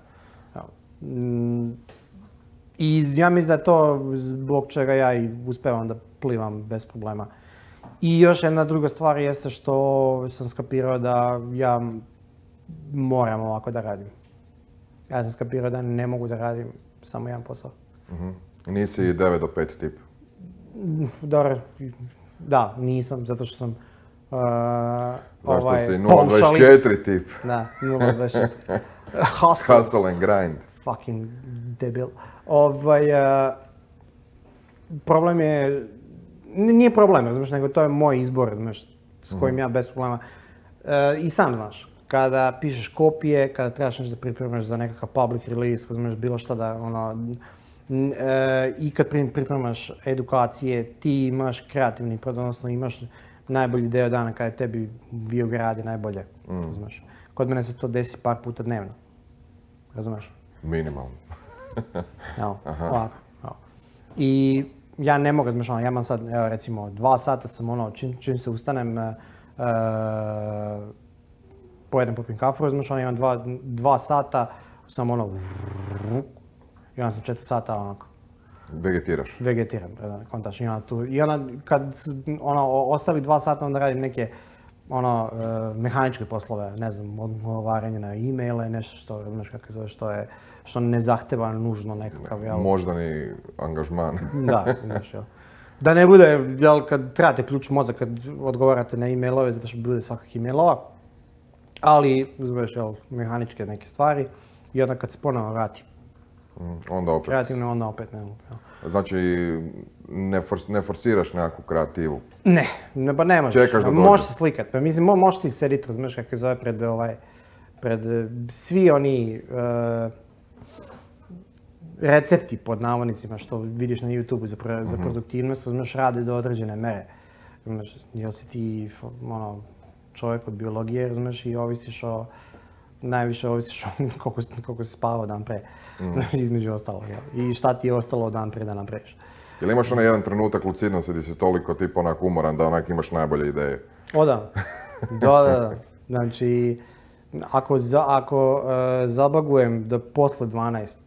Speaker 2: I ja mislim da je to zbog čega ja i uspevam da plivam bez problema. I još jedna druga stvar jeste što sam skapirao da ja moram ovako da radim. Ja sam skapirao da ne mogu da radim samo jedan posao.
Speaker 1: Nisi 9 do 5 tip?
Speaker 2: Dobro, da, nisam, zato što sam
Speaker 1: zašto si 0.24 tip?
Speaker 2: Da, 0.24.
Speaker 1: Hustle and grind.
Speaker 2: Fucking debil. Problem je, nije problem, razumiješ, nego to je moj izbor, razumiješ, s kojim ja bez problema. I sam znaš, kada pišeš kopije, kada trebaš nešto da pripremaš za nekakav public release, razumiješ, bilo šta da, i kad pripremaš edukacije, ti imaš kreativni, odnosno imaš najbolji deo dana kada tebi VIOG radi najbolje, razumiješ. Kod mene se to desi par puta dnevno, razumiješ.
Speaker 1: Minimalno.
Speaker 2: Evo, ovako. I ja ne mogu razmišljati, ja imam sad, evo recimo, 2 sata sam čim se ustanem, pojedem popim kafu, razmišljam, imam 2 sata, sam i onda sam 4 sata onako.
Speaker 1: Vegetiraš?
Speaker 2: Vegetiram, kontač. I onda kad ostali 2 sata onda radim neke mehaničke poslove, ne znam, odgovaranje na e-maile, nešto što, znaš kako se zove, što ne zahteva nužno nekakav, jel?
Speaker 1: Moždani angažman.
Speaker 2: Da, znaš, jel? Da ne bude, jel, kad trebate ključ mozak kad odgovarate na e-mailove, zato što bude svakak e-mailova, ali uzmeš, jel, mehaničke neke stvari i onda kad se ponovno vrati
Speaker 1: Onda opet.
Speaker 2: kreativno, onda opet ne mogu.
Speaker 1: Znači, ne forsiraš nekakvu kreativu.
Speaker 2: Ne, pa ne možeš.
Speaker 1: Čekaš da dođe.
Speaker 2: Možeš se slikat. Pa mislim, možeš ti sediti, razumiješ kako se zove pred svi oni recepti pod navodnicima što vidiš na YouTube za produktivnost, razumiješ, rade do određene mere. Razumiješ, jel si ti čovjek od biologije, razumiješ, i najviše ovisiš koliko si spavao dan pre, između ostalog. I šta ti je ostalo dan pre da napraviš.
Speaker 1: Jel imaš onaj jedan trenutak lucidnosti gdje si toliko tipa onak umoran da onak imaš najbolje ideje?
Speaker 2: O da. Da. Znači, ako zabagujem da posle 12,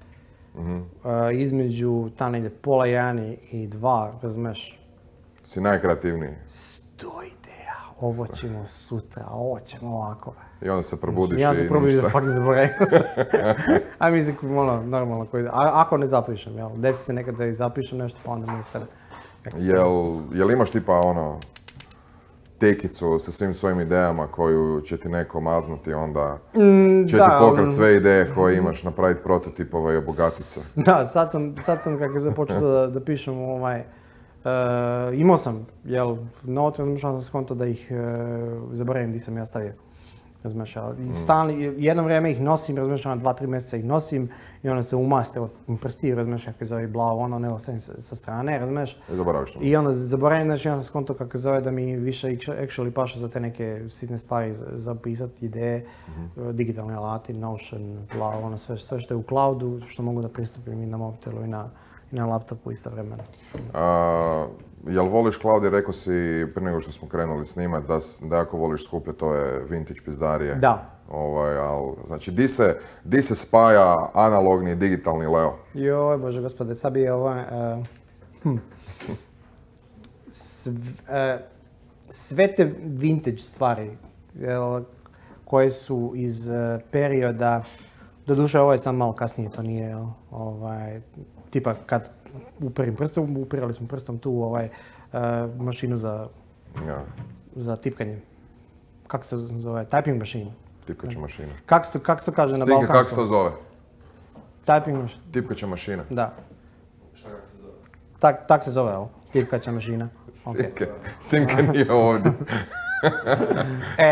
Speaker 2: između ta negdje pola 1 i 2, razumeš?
Speaker 1: Si najkreativniji.
Speaker 2: 100 ideja, ovo ćemo sutra, ovo ćemo ovako.
Speaker 1: I onda se probudiš
Speaker 2: ja
Speaker 1: i
Speaker 2: se probudiš
Speaker 1: ništa.
Speaker 2: da fucking zaboravim se. A mislim, normalno, ako ne zapišem, jel? Desi se nekad da i zapišem nešto, pa onda mi stane.
Speaker 1: Jel imaš tipa tekicu sa svim svojim idejama koju će ti neko maznuti, onda će ti pokrat sve ideje koje imaš, napraviti prototipova i obogatiti se?
Speaker 2: Da, sad sam kako se počeo da pišem imao sam, jel, note, razmišljao sam skonto da ih zaboravim gdje sam ja stavio. Razumiješ, jedno vrijeme ih nosim, razumiješ, 2-3 mjeseca ih nosim i onda se umaste od prsti, razumiješ, kako zove blago, ne ostavim sa strane, razumiješ.
Speaker 1: I zaboraviš to.
Speaker 2: I onda zaboravim, znači ja sam skonto kako zove da mi više actually paše za te neke sitne stvari zapisati, ideje, digitalni alati, Notion, blago, sve što je u cloudu, što mogu da pristupim i na mobitelu i na laptopu istovremeno.
Speaker 1: Jel voliš cloud, jer rekao si prije nego što smo krenuli snimat da ako voliš skupljati ove vintage pizdarije.
Speaker 2: Da.
Speaker 1: Znači, di se spaja analogni i digitalni Leo?
Speaker 2: Joj, Bože gospode, sad bi je sve te vintage stvari koje su iz perioda, doduše ovo je sam malo kasnije, to nije, tipa kad upirali smo prstom tu mašinu za tipkanje. Kako se zove? Typing mašinu.
Speaker 1: Tipkaća mašina.
Speaker 2: Kako se to kaže na balkanskom?
Speaker 1: Kako se to zove?
Speaker 2: Typing mašina.
Speaker 1: Tipkaća mašina.
Speaker 2: Da.
Speaker 3: Šta kako se zove?
Speaker 2: Tak se zove ovo. Tipkaća mašina.
Speaker 1: Simka nije ovdje.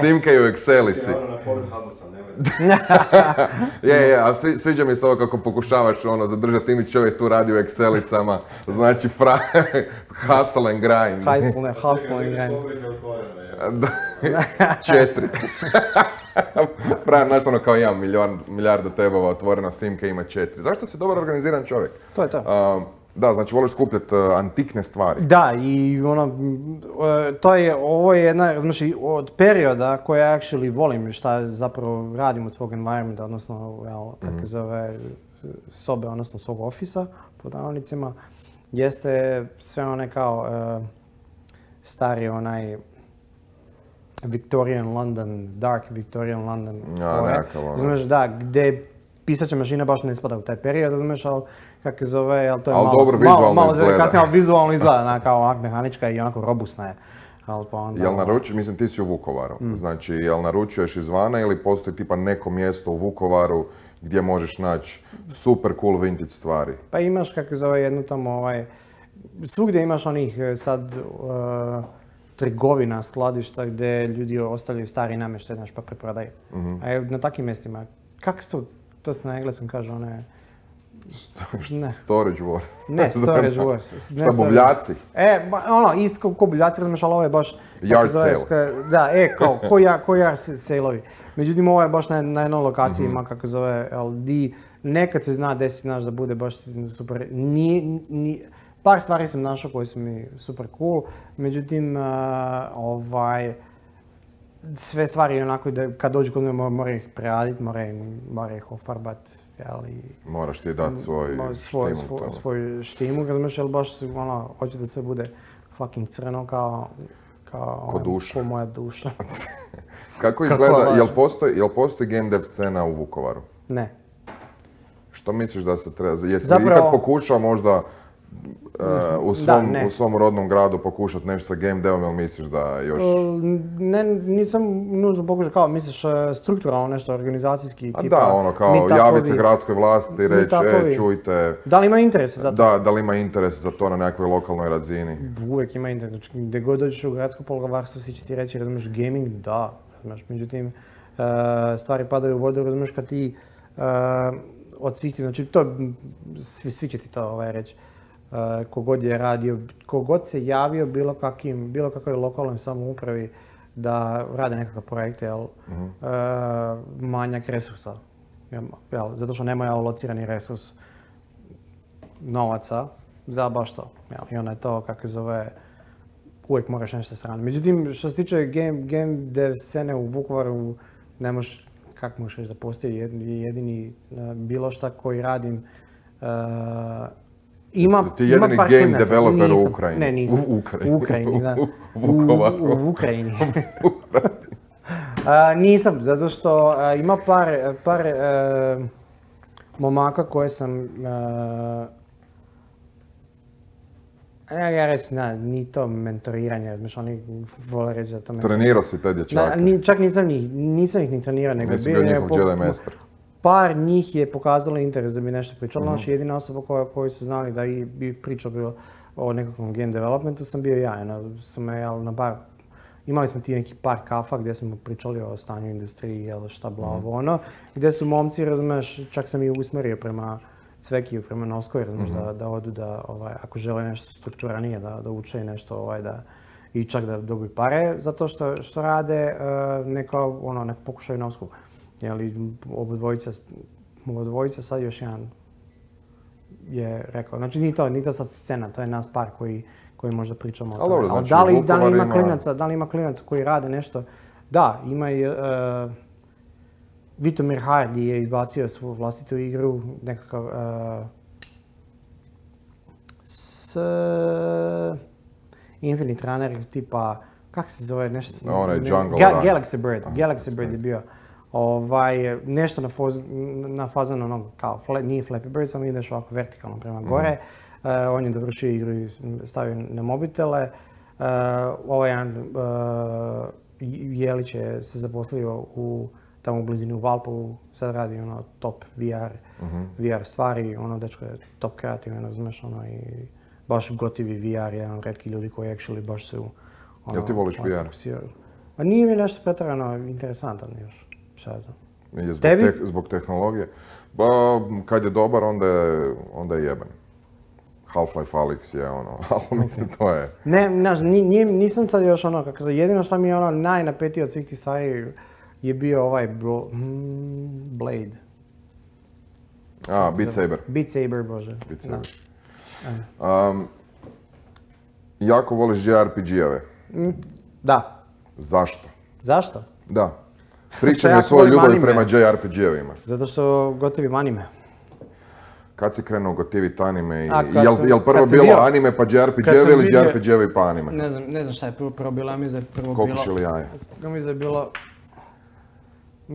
Speaker 1: Simka je u Excelici.
Speaker 3: Na Pornhubu sam, nemoj.
Speaker 1: Je, a sviđa mi se ovo kako pokušavaš zadržati imidž, čovjek tu radi u Excelicama, znači hustle and grind.
Speaker 2: Hustle and grind.
Speaker 1: 4. Fran, znaš kao ja, milijarda tebova otvorena, Simka ima 4. Zašto si dobar organiziran čovjek?
Speaker 2: To je to.
Speaker 1: Da, znači voliš skupljati antikne stvari.
Speaker 2: Da, i ovo je jedna, znači, od perioda koje ja actually volim, šta zapravo radim od svog environmenta, odnosno, kako zove, sobe, odnosno svog ofisa, pod navodnicima, jeste sve one kao stari Victorian London, dark Victorian London. Znaš, da, gdje pisaća mašina baš ne spada u taj period, znaš, ali kako zove, ali to je
Speaker 1: malo izgleda.
Speaker 2: Kasnije, ali vizualno izgleda, kao onak mehanička i onako robustna je.
Speaker 1: Jel naručuješ, mislim ti si u Vukovaru, znači jel naručuješ izvana ili postoji tipa neko mjesto u Vukovaru gdje možeš naći super cool vintage stvari?
Speaker 2: Pa imaš, kako zove, jednu tamo, svugdje imaš onih sad trgovina, skladišta gdje ljudi ostavljaju stari namještaj, znaš, pa preprodaju. A na takvim mjestima, kako se to se na engleskom kaže,
Speaker 1: Storage wars.
Speaker 2: Ne, storage wars.
Speaker 1: Šta, buvljaci?
Speaker 2: Isto ko buvljaci, razumiješ, ali ovo je baš...
Speaker 1: Yard sale.
Speaker 2: Da, ko yard sale-ovi. Međutim, ovo je baš na jednoj lokaciji, ima kako zove, di nekad se zna desiti, znaš, da bude baš super. Par stvari sam našao koje su mi super cool, međutim, sve stvari onako da kad dođu kod me mora ih preraditi, mora ih ofarbati.
Speaker 1: Moraš ti dati svoj
Speaker 2: štimu, razumiješ, ali baš hoće da sve bude fucking crno kao Ko
Speaker 1: duša.
Speaker 2: Ko moja duša.
Speaker 1: Kako izgleda, jel postoji game dev scena u Vukovaru?
Speaker 2: Ne.
Speaker 1: Što misliš da se treba, jesi li ikad pokušao možda u svom rodnom gradu pokušati nešto sa game devom, ili misliš da još...
Speaker 2: Ne, nisam nužno pokušao, kao misliš strukturalno nešto, organizacijski tipa...
Speaker 1: Da, ono kao javiti se gradskoj vlasti, reći, čujte...
Speaker 2: Da li ima interesa za to?
Speaker 1: Da li ima interes za to na nekakvoj lokalnoj razini?
Speaker 2: Uvijek ima interes, znači gdje god dođeš u gradsko poglavarstvo, svi će ti reći, razumiješ, gaming, da, razumiješ, međutim, stvari padaju u vodu, razumiješ, kad ti od svih ti, znači to, svi će ti to reći. Kogod je radio, kogod se javio bilo kakvoj lokalnoj samoupravi da rade nekakve projekte, manjak resursa. Zato što nemaju alocirani resurs novaca za baš to. I onda je to, kako se zove, uvijek moraš nešto strane. Međutim, što se tiče game dev scene u Vukovaru, ne možeš, kako možeš reći da postoji jedini bilo šta koji radim.
Speaker 1: Ti jedini game developer u Ukrajini.
Speaker 2: Ne, nisam. U Ukrajini, da. U Ukrajini. Nisam, zato što ima par momaka koje sam... Ja reći, ni to mentoriranje, znači oni vole reći da to mentoriranje.
Speaker 1: Trenirao si te dječake?
Speaker 2: Čak nisam ih ni trenirao, nego
Speaker 1: nisi bio njihov Jedi master.
Speaker 2: Par njih je pokazalo interes da bi nešto pričalo. Znači, jedina osoba koju su znali da bi pričao bilo o nekakvom game developmentu sam bio ja. Na bar, imali smo ti neki par kafa gdje smo pričali o stanju industriji, šta bla ono, gdje su momci, razumiješ, čak sam i usmjerio prema Cvekiju, prema Noskoj, razumiješ, da odu da, ako žele nešto strukturanije, da uče nešto, i čak da dobiju pare, zato što rade neko pokušaju Nosku. Obodvojica sad još jedan je rekao, znači nije to sad scena, to je nas par koji možda pričamo o tome.
Speaker 1: Dobro, znači
Speaker 2: da li ima klinaca koji rade nešto? Da, ima i Vitomir Hardy je izbacio svoju vlastitu igru, nekakav s Infinite Runner tipa, kak se zove nešto? Galaxy Bird. Galaxy Bird je bio. Nešto na fazonu onog, kao, nije Flappy Bird, samo ideš ovako vertikalno prema gore. On je dovršio igru i stavio na mobitele. Jelić je se zaposlio tamo u blizini u Valpovu, sad radi top VR stvari, dečko je top kreativan, znaš, i baš gotivi VR, jedan od retki ljudi koji actually baš su...
Speaker 1: Jel ti voliš VR?
Speaker 2: Pa nije mi nešto pretjerano interesantan još.
Speaker 1: Zbog tehnologije? Ba, kad je dobar, onda je jeben. Half-Life Alyx je ali mislim to je...
Speaker 2: Ne, nisam sad još kako se, jedino što mi je najnapetije od svih tih stvari je bio ovaj Blade.
Speaker 1: Beat Saber.
Speaker 2: Beat Saber, bože.
Speaker 1: Beat Saber. Jako voliš JRPG-ove?
Speaker 2: Da.
Speaker 1: Zašto?
Speaker 2: Zašto?
Speaker 1: Da. Pričaj mi o svojoj ljubavi prema JRPG-ovima.
Speaker 2: Zato što gotivim anime.
Speaker 1: Kad si krenuo gotivit anime? Jel prvo bilo anime pa JRPG-ovi ili JRPG-ovi pa anime?
Speaker 2: Ne znam šta je prvo bilo, ja mislim da je prvo bilo...
Speaker 1: Kokoš ili jaje?
Speaker 2: Mislim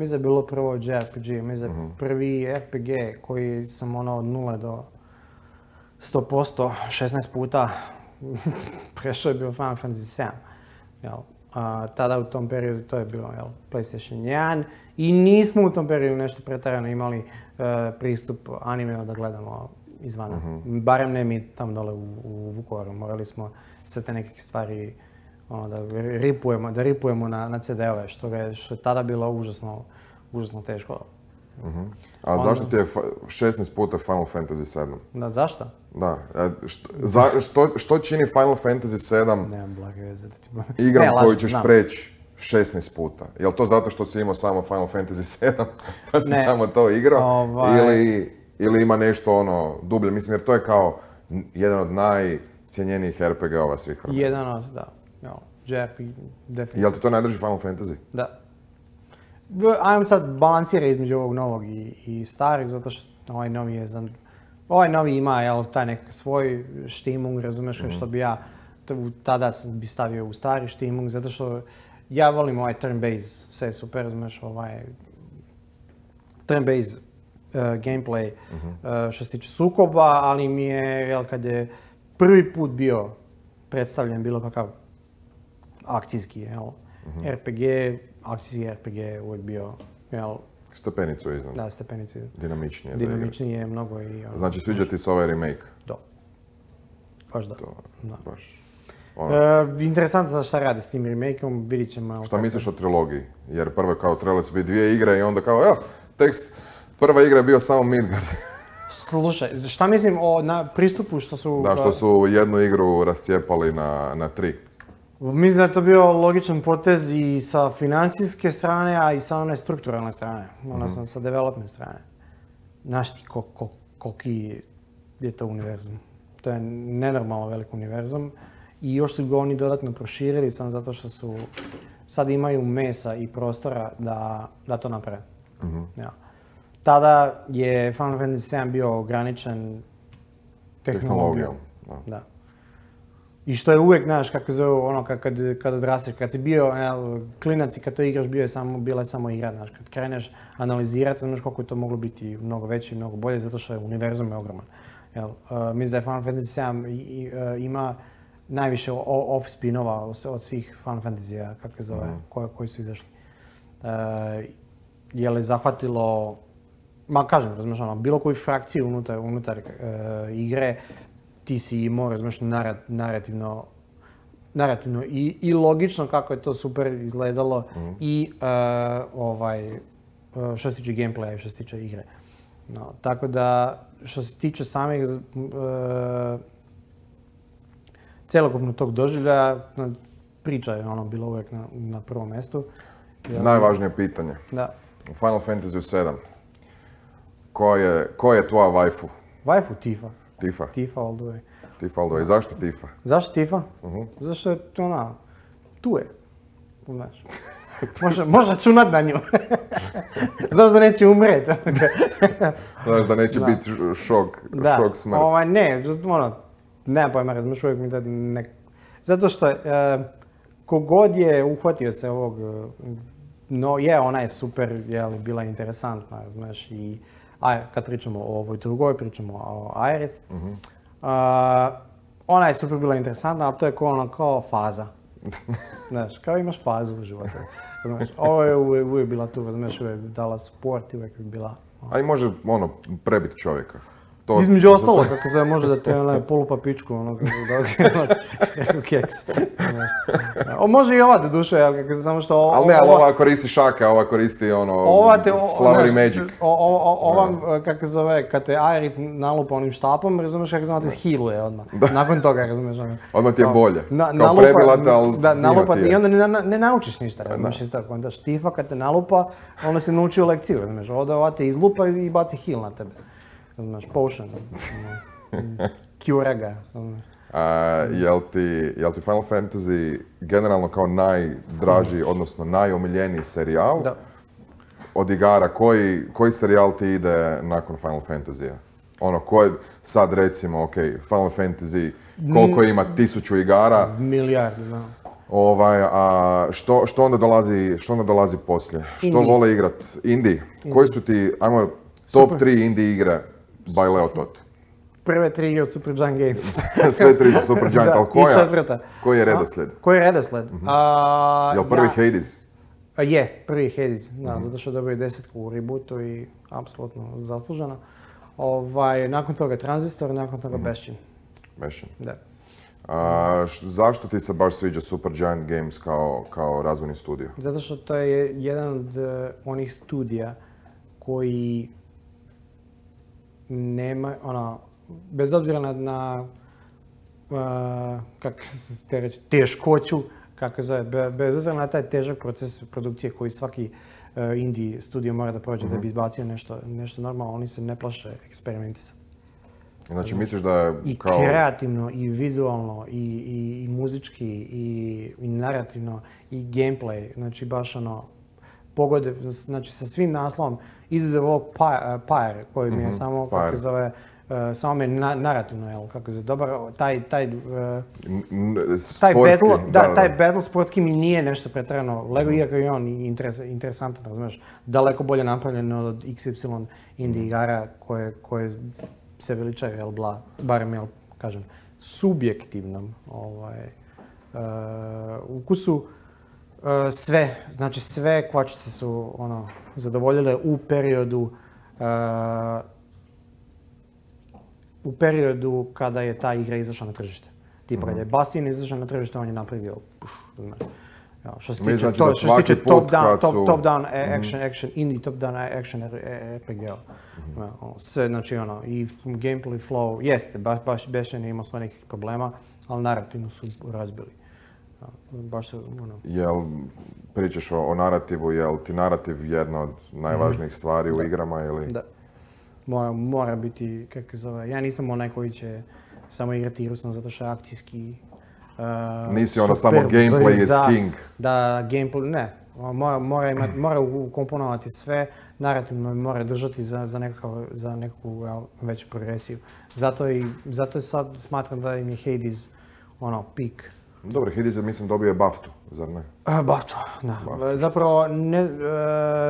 Speaker 2: da je bilo prvo JRPG, mislim da je prvi RPG koji sam od 0 do 100%, 16 puta prešao je bio Final Fantasy 7. Tada u tom periodu to je bilo PlayStation 1 i nismo u tom periodu nešto pretjerano imali pristup animeu da gledamo izvana. Barem ne mi tamo dole u Vukovaru, morali smo sve te neke stvari da ripujemo na CD-ove, što je tada bilo užasno teško.
Speaker 1: A zašto ti je 16 puta Final Fantasy 7?
Speaker 2: Da, zašto?
Speaker 1: Da. Što čini Final Fantasy 7
Speaker 2: nemam blage veze da ti
Speaker 1: igram koju ćeš preći 16 puta? Je li to zato što si imao samo Final Fantasy 7 pa si samo to igrao? Ili ima nešto dublje? Mislim, jer to je kao jedan od najcijenjenijih RPG-ova svih vremena.
Speaker 2: Jedan od, da. JRPG, definitivno.
Speaker 1: Je li ti to najdrži Final Fantasy?
Speaker 2: Da. Ajmo sad balansirati između ovog novog i starih, zato što ovaj novi ima taj nekakav svoj štimung, razumiješ, što bi ja tada bi stavio u stari Steamung, zato što ja volim ovaj turn-based, sve je super, znaš, ovaj turn-based gameplay što se tiče sukoba, ali mi je, jel, kad je prvi put bio predstavljen bilo kakav akcijski, jel, RPG, akcijski RPG je uvijek bio, jel,
Speaker 1: stepenicu iznad.
Speaker 2: Da, stepenicu.
Speaker 1: Dinamičnije.
Speaker 2: Dinamičnije je mnogo i...
Speaker 1: Znači, sviđa ti se ovaj remake?
Speaker 2: Da. Baš da.
Speaker 1: Baš.
Speaker 2: Interesantno za šta radi s tim remakeom, vidit ćemo...
Speaker 1: Šta misliš o trilogiji? Jer prvo je kao trebalo se biti 2 igre i onda kao, evo, tekst, prva igra je bio samo Midgard.
Speaker 2: Slušaj, šta mislim o pristupu što su...
Speaker 1: Da, što su jednu igru rascijepali na 3.
Speaker 2: Mislim da je to bio logičan potez i sa financijske strane, a i sa one strukturalne strane, odnosno sa development strane. Znaš ti koliki je to univerzum? To je nenormalno velik univerzum i još su ga oni dodatno proširili samo zato što su sad imaju mesa i prostora da to naprave. Ja. Tada je Final Fantasy VII bio ograničen tehnologijom. Da. I što je uvijek, znaš, kako zove, ono, kad odrasteš, kad si bio klinac i kad to igraš, bila je samo igra, znaš, kad kreneš analizirati, znaš koliko je to moglo biti mnogo veće i mnogo bolje, zato što je univerzum je ogroman. Mislim da je Final Fantasy VII ima najviše off-spinova od svih Final Fantasy-a, kako zove, koji su izašli. Je li zahvatilo, kažem, razumiješ, ono, bilo koju frakciju unutar igre, ti si imao, razumiješ, narativno i logično kako je to super izgledalo i što se tiče gameplaya i što se tiče igre. No, tako da, što se tiče samih cjelokupnog tog doživljaja, priča je ono bilo uvijek na prvom mjestu.
Speaker 1: Najvažnije pitanje.
Speaker 2: Da.
Speaker 1: U Final Fantasy VII, ko je tvoja waifu?
Speaker 2: Waifu Tifa.
Speaker 1: Tifa?
Speaker 2: Tifa all the way.
Speaker 1: Tifa all the way. Zašto Tifa?
Speaker 2: Zašto Tifa? Zato što je ona, tu je. Znaš. Može računat na nju. Znaš da neće umret.
Speaker 1: Znaš da neće biti šok smrt.
Speaker 2: Ne, nemam pojma, razmišljam uvijek mi da ne... Zato što kogod je uhvatio se ovog, ona je super, bila interesantna, znaš, i kad pričamo o ovoj drugoj, pričamo o Aerith. Ona je super bila interesantna, ali to je kao faza. Znaš, kao imaš fazu u životu. Znaš, ovo je uvijek bila tu, znaš, uvijek dala support i uvijek bila...
Speaker 1: A i može, prebiti čovjeka.
Speaker 2: Između ostalo, kako se može da te polupa pičku, keks. Može i ova do duše, samo što...
Speaker 1: Ali ne, ali ova koristi šake, ova koristi flowery magic.
Speaker 2: Ova, kako se zove, kad te Aerith nalupa onim štapom, razumiješ kako znate, healuje odmah. Nakon toga, razumiješ.
Speaker 1: Odmah ti je bolje. Kao prebila te, ali
Speaker 2: nalupa ti i onda ne naučiš ništa, razumiješ. Onda Tifa kad te nalupa, onda si naučio lekciju, razumiješ. Ova te izlupa i baci heal na tebe. Znaš, potion, cure ga.
Speaker 1: Jel ti Final Fantasy generalno kao najdraži, odnosno najomiljeniji serijal?
Speaker 2: Da.
Speaker 1: Od igara, koji serijal ti ide nakon Final Fantasy-a? Ko je sad recimo, ok, Final Fantasy, koliko ima 1000 igara?
Speaker 2: Milijardi, da.
Speaker 1: Što onda dolazi poslije? Što vole igrat? Indie? Koji su ti, ajmo, top 3 indie igre by Leotot?
Speaker 2: Prve 3 igre od Supergiant Games.
Speaker 1: Sve 3 su Supergiant, ali koji je redoslijed?
Speaker 2: Koji je redoslijed?
Speaker 1: Jel prvi Hades?
Speaker 2: Je, prvi Hades, zato što dobio 10 u rebootu i apsolutno zasluženo. Nakon toga Transistor, nakon toga Bastion.
Speaker 1: Bastion.
Speaker 2: Da.
Speaker 1: Zašto ti se baš sviđa Supergiant Games kao razvojni studio?
Speaker 2: Zato što to je jedan od onih studija koji nema, bez obzira na kako se te reći, teškoću, kako zove, bez obzira na taj težak proces produkcije koji svaki indie studio mora da prođe da bi izbacio nešto normalno, oni se ne plaše eksperimentisati.
Speaker 1: Znači misliš da je
Speaker 2: kao... I kreativno, i vizualno, i muzički, i narativno, i gameplay, znači baš pogode, znači sa svim naslovom, izuzev ovog Pyre, koji mi je samo, kako zove, samo me narativno, jel, kako se dobar, taj battle sportski mi nije nešto pretjerano. Lego iako je on interesantan, razumiješ, daleko bolje napravljen od XY indie igara koje se veličaju, jel, barem, jel, kažem, subjektivnom ukusu. Sve kvačice su zadovoljile u periodu kada je ta igra izašla na tržište. Tipa kada je Bastion izašao na tržište, on je napravio što se tiče top-down action, indie top-down action RPG-a. Sve, znači i gameplay flow, jeste, baš Bastion je imao svoje nekih problema, ali narativno su razbili. Baš se,
Speaker 1: Jel pričaš o narativu, jel ti narativ jedna od najvažnijih stvari u igrama ili?
Speaker 2: Da. Mora biti, kako se zove, ja nisam onaj koji će samo igrati igru sam zato što je akcijski
Speaker 1: nisi samo gameplay is king.
Speaker 2: Da, gameplay, ne. Mora ukomponovati sve, narativno mora držati za nekakvu veću progresiju. Zato sad smatram da im je Hades pik.
Speaker 1: Dobro, Hades je, mislim, dobio je BAFTA, zar ne?
Speaker 2: BAFTA, da. Zapravo,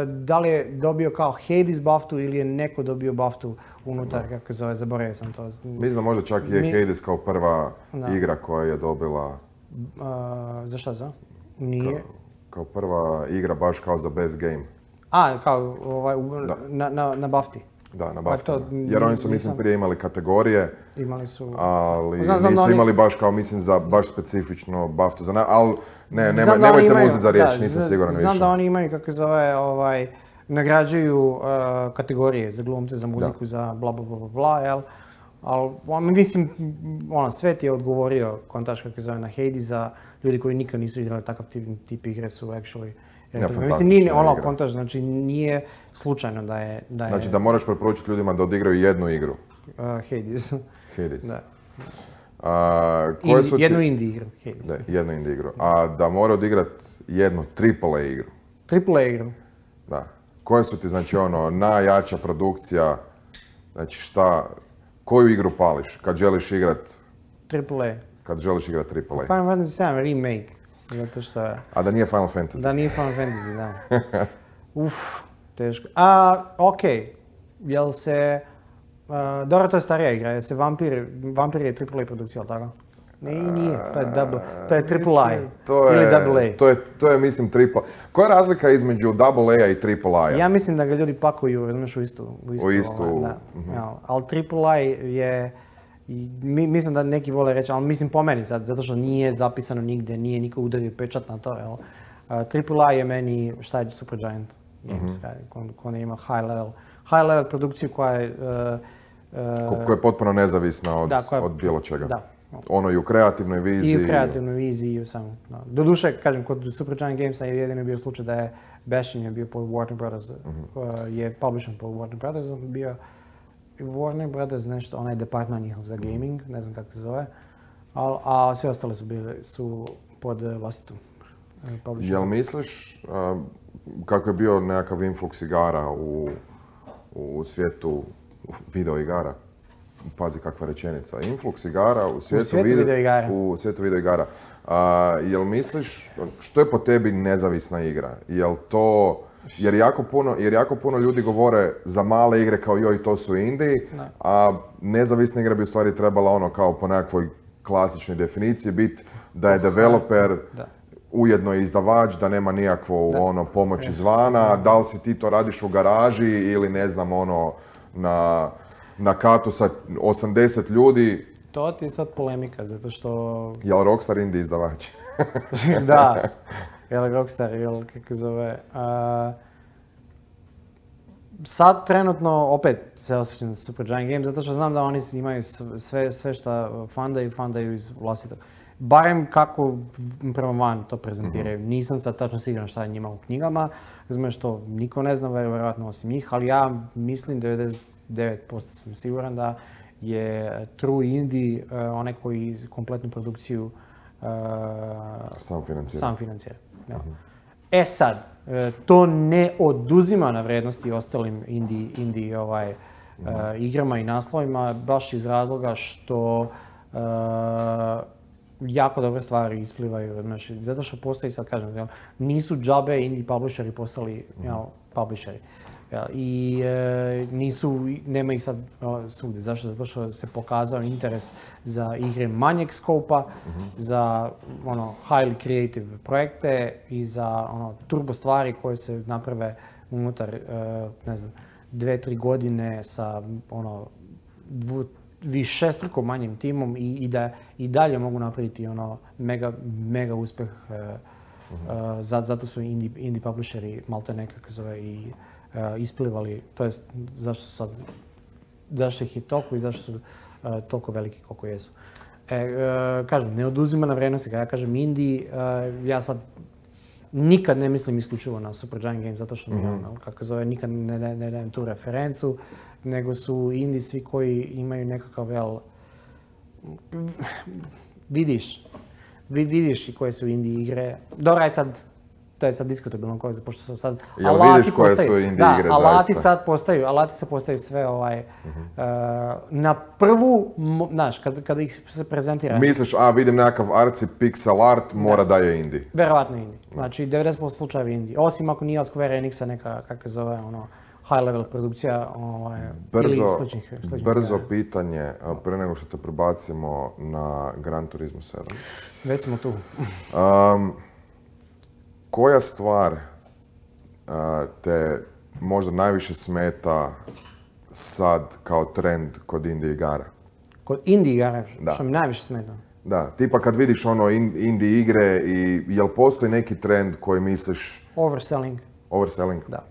Speaker 2: da li je dobio kao Hades BAFTA ili je neko dobio BAFTA unutar, kako se zove, zaboravio sam to.
Speaker 1: Mislim da možda čak je Hades kao prva igra koja je dobila...
Speaker 2: Za šta za? Nije.
Speaker 1: Kao prva igra baš kao za best game.
Speaker 2: Kao na BAFTA.
Speaker 1: Da, na BAFTA. Jer oni su, mislim, prije imali kategorije,
Speaker 2: imali su,
Speaker 1: ali nisu imali baš kao, mislim, za baš specifično BAFTA. Ali nemojte me uzeti za riječ, nisam siguran više.
Speaker 2: Znam da oni imaju, kako se zove, nagrađuju kategorije za glumce, za muziku, za bla bla bla bla, jel? Ali, mislim, svet je odgovorio, kontaž, kako se zove, na Hadesa, ljudi koji nikad nisu igrali takav tip igre su actually. Mislim, nije kontaž, znači nije slučajno da je...
Speaker 1: Znači da moraš preporučiti ljudima da odigraju jednu igru.
Speaker 2: Hades.
Speaker 1: Da.
Speaker 2: Jednu indie igru.
Speaker 1: Da, jednu indie igru. A da mora odigrati jednu AAA igru.
Speaker 2: AAA igru?
Speaker 1: Da. Koje su ti, znači, najjača produkcija, znači koju igru pališ kad želiš igrat...
Speaker 2: AAA.
Speaker 1: Kad želiš igrat AAA.
Speaker 2: Final Fantasy 7 remake. Zato što je...
Speaker 1: A da nije Final Fantasy.
Speaker 2: Da nije Final Fantasy, da. Teško. Okej. Jel se... Dobro, to je starija igra. Jel se Vampir je AAA produkcija, ali tako? Nije. To je AAA. Ili AA.
Speaker 1: To je, mislim, AAA. Koja je razlika između AA-a i AAA-a?
Speaker 2: Ja mislim da ga ljudi pakuju, razumiješ, u istu. Ali AAA je... Mislim da neki vole reći, ali mislim po meni sad, zato što nije zapisano nigdje, nije niko udario pečat na to, jel? AAA je meni, šta je Supergiant Games, ko ne ima high level produkciju koja je...
Speaker 1: koja je potpuno nezavisna od bilo čega. Da. Ono i u kreativnoj viziji.
Speaker 2: I u kreativnoj viziji i u samo. Doduše, kažem, kod Supergiant Gamesa je jedino bio slučaj da je Bastion je bio pod Warner Brothers, je publishen pod Warner Brothers, bio Warner Brothers nešto, onaj departman njihov za gaming, ne znam kako se zove, a sve ostale su pod vlastitom publisherom.
Speaker 1: Jel misliš kako je bio nekakav influx igara u svijetu video igara? Pazi kakva rečenica. Influx igara u svijetu video igara. Jel misliš, što je po tebi nezavisna igra? Jel to... Jer jako puno ljudi govore za male igre kao joj, to su indie, a nezavisna igra bi u stvari trebala kao po nekakvoj klasičnoj definiciji biti da je developer ujedno je izdavač, da nema nikakvu pomoć izvana, da li si ti to radiš u garaži ili ne znam na katu sa 80 ljudi.
Speaker 2: To ti je sad polemika, zato što...
Speaker 1: Jel Rockstar indie izdavač?
Speaker 2: Da. Jel Rockstar, kako zove. Sad trenutno opet se osjećam za Supergiant Games, zato što znam da oni imaju sve što fundaju iz vlastitog. Barem kako prema van to prezentiraju. Nisam sad tačno siguran šta je njima u knjigama, razumiješ to niko ne zna, vjerojatno osim njih, ali ja mislim 99% sam siguran da je true indie onaj koji kompletnu produkciju sam financira. Sad, to ne oduzima na vrijednosti ostalim indie igrama i naslovima, baš iz razloga što jako dobre stvari isplivaju. Znači, zato što postoji, sad kažem, nisu džabe indie publisheri postali publisheri. I nema ih sad svugdje. Zašto? Zato što se pokazao interes za igre manjeg skopa, za highly creative projekte i za turbo stvari koje se naprave unutar, 2-3 godine sa višestruko manjim timom i da i dalje mogu napraviti mega uspjeh. Zato su indie publisheri malte nekako zove i isplivali, to jest zašto ih je toliko i zašto su toliko veliki koliko jesu. Kažem, ne oduzima na vrijednosti, kada ja kažem indie, ja sad nikad ne mislim isključivo na Supergiant Games, zato što kako zove, nikad ne dajem tu referencu, nego su indie svi koji imaju nekakav, vidiš i koje su indie igre. Dobro, aj sad, to je sad diskutabilno, pošto su sad
Speaker 1: alati postaju.
Speaker 2: Alati se postaju sve na prvu, znaš, kada ih se prezentira.
Speaker 1: Misliš, vidim nekakav arci pixel art, mora da je indie.
Speaker 2: Verovatno indie. Znači, 90% slučajeva indie. Osim ako nije od Square Enixa neka, kako zove, high level produkcija ili sličnih.
Speaker 1: Brzo pitanje, pre nego što te prebacimo na Gran Turismo 7.
Speaker 2: Već smo tu.
Speaker 1: Koja stvar te možda najviše smeta sad kao trend kod indie igara?
Speaker 2: Kod indie igara? Što mi najviše smeta?
Speaker 1: Da, tipa kad vidiš indie igre i jel postoji neki trend koji misliš...
Speaker 2: Overselling.
Speaker 1: Overselling?
Speaker 2: Da.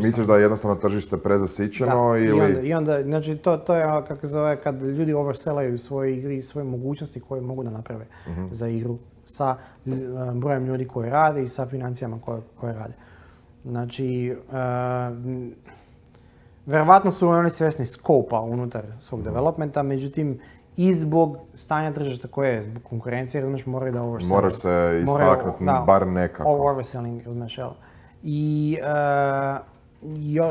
Speaker 1: Misliš da je jednostavno tržište prezasićeno ili...
Speaker 2: I onda, znači to je kako zove, kad ljudi oversellaju svoje igre i svoje mogućnosti koje mogu da naprave za igru sa brojem ljudi koji rade i sa financijama koje rade. Znači, verovatno su oni svjesni skopa unutar svog developmenta, međutim, i zbog stanja tržišta koje je, zbog konkurencije, razumiješ, moraju da overselling.
Speaker 1: Moraš se istaknuti, bar nekako.
Speaker 2: Overselling, razumiješ, I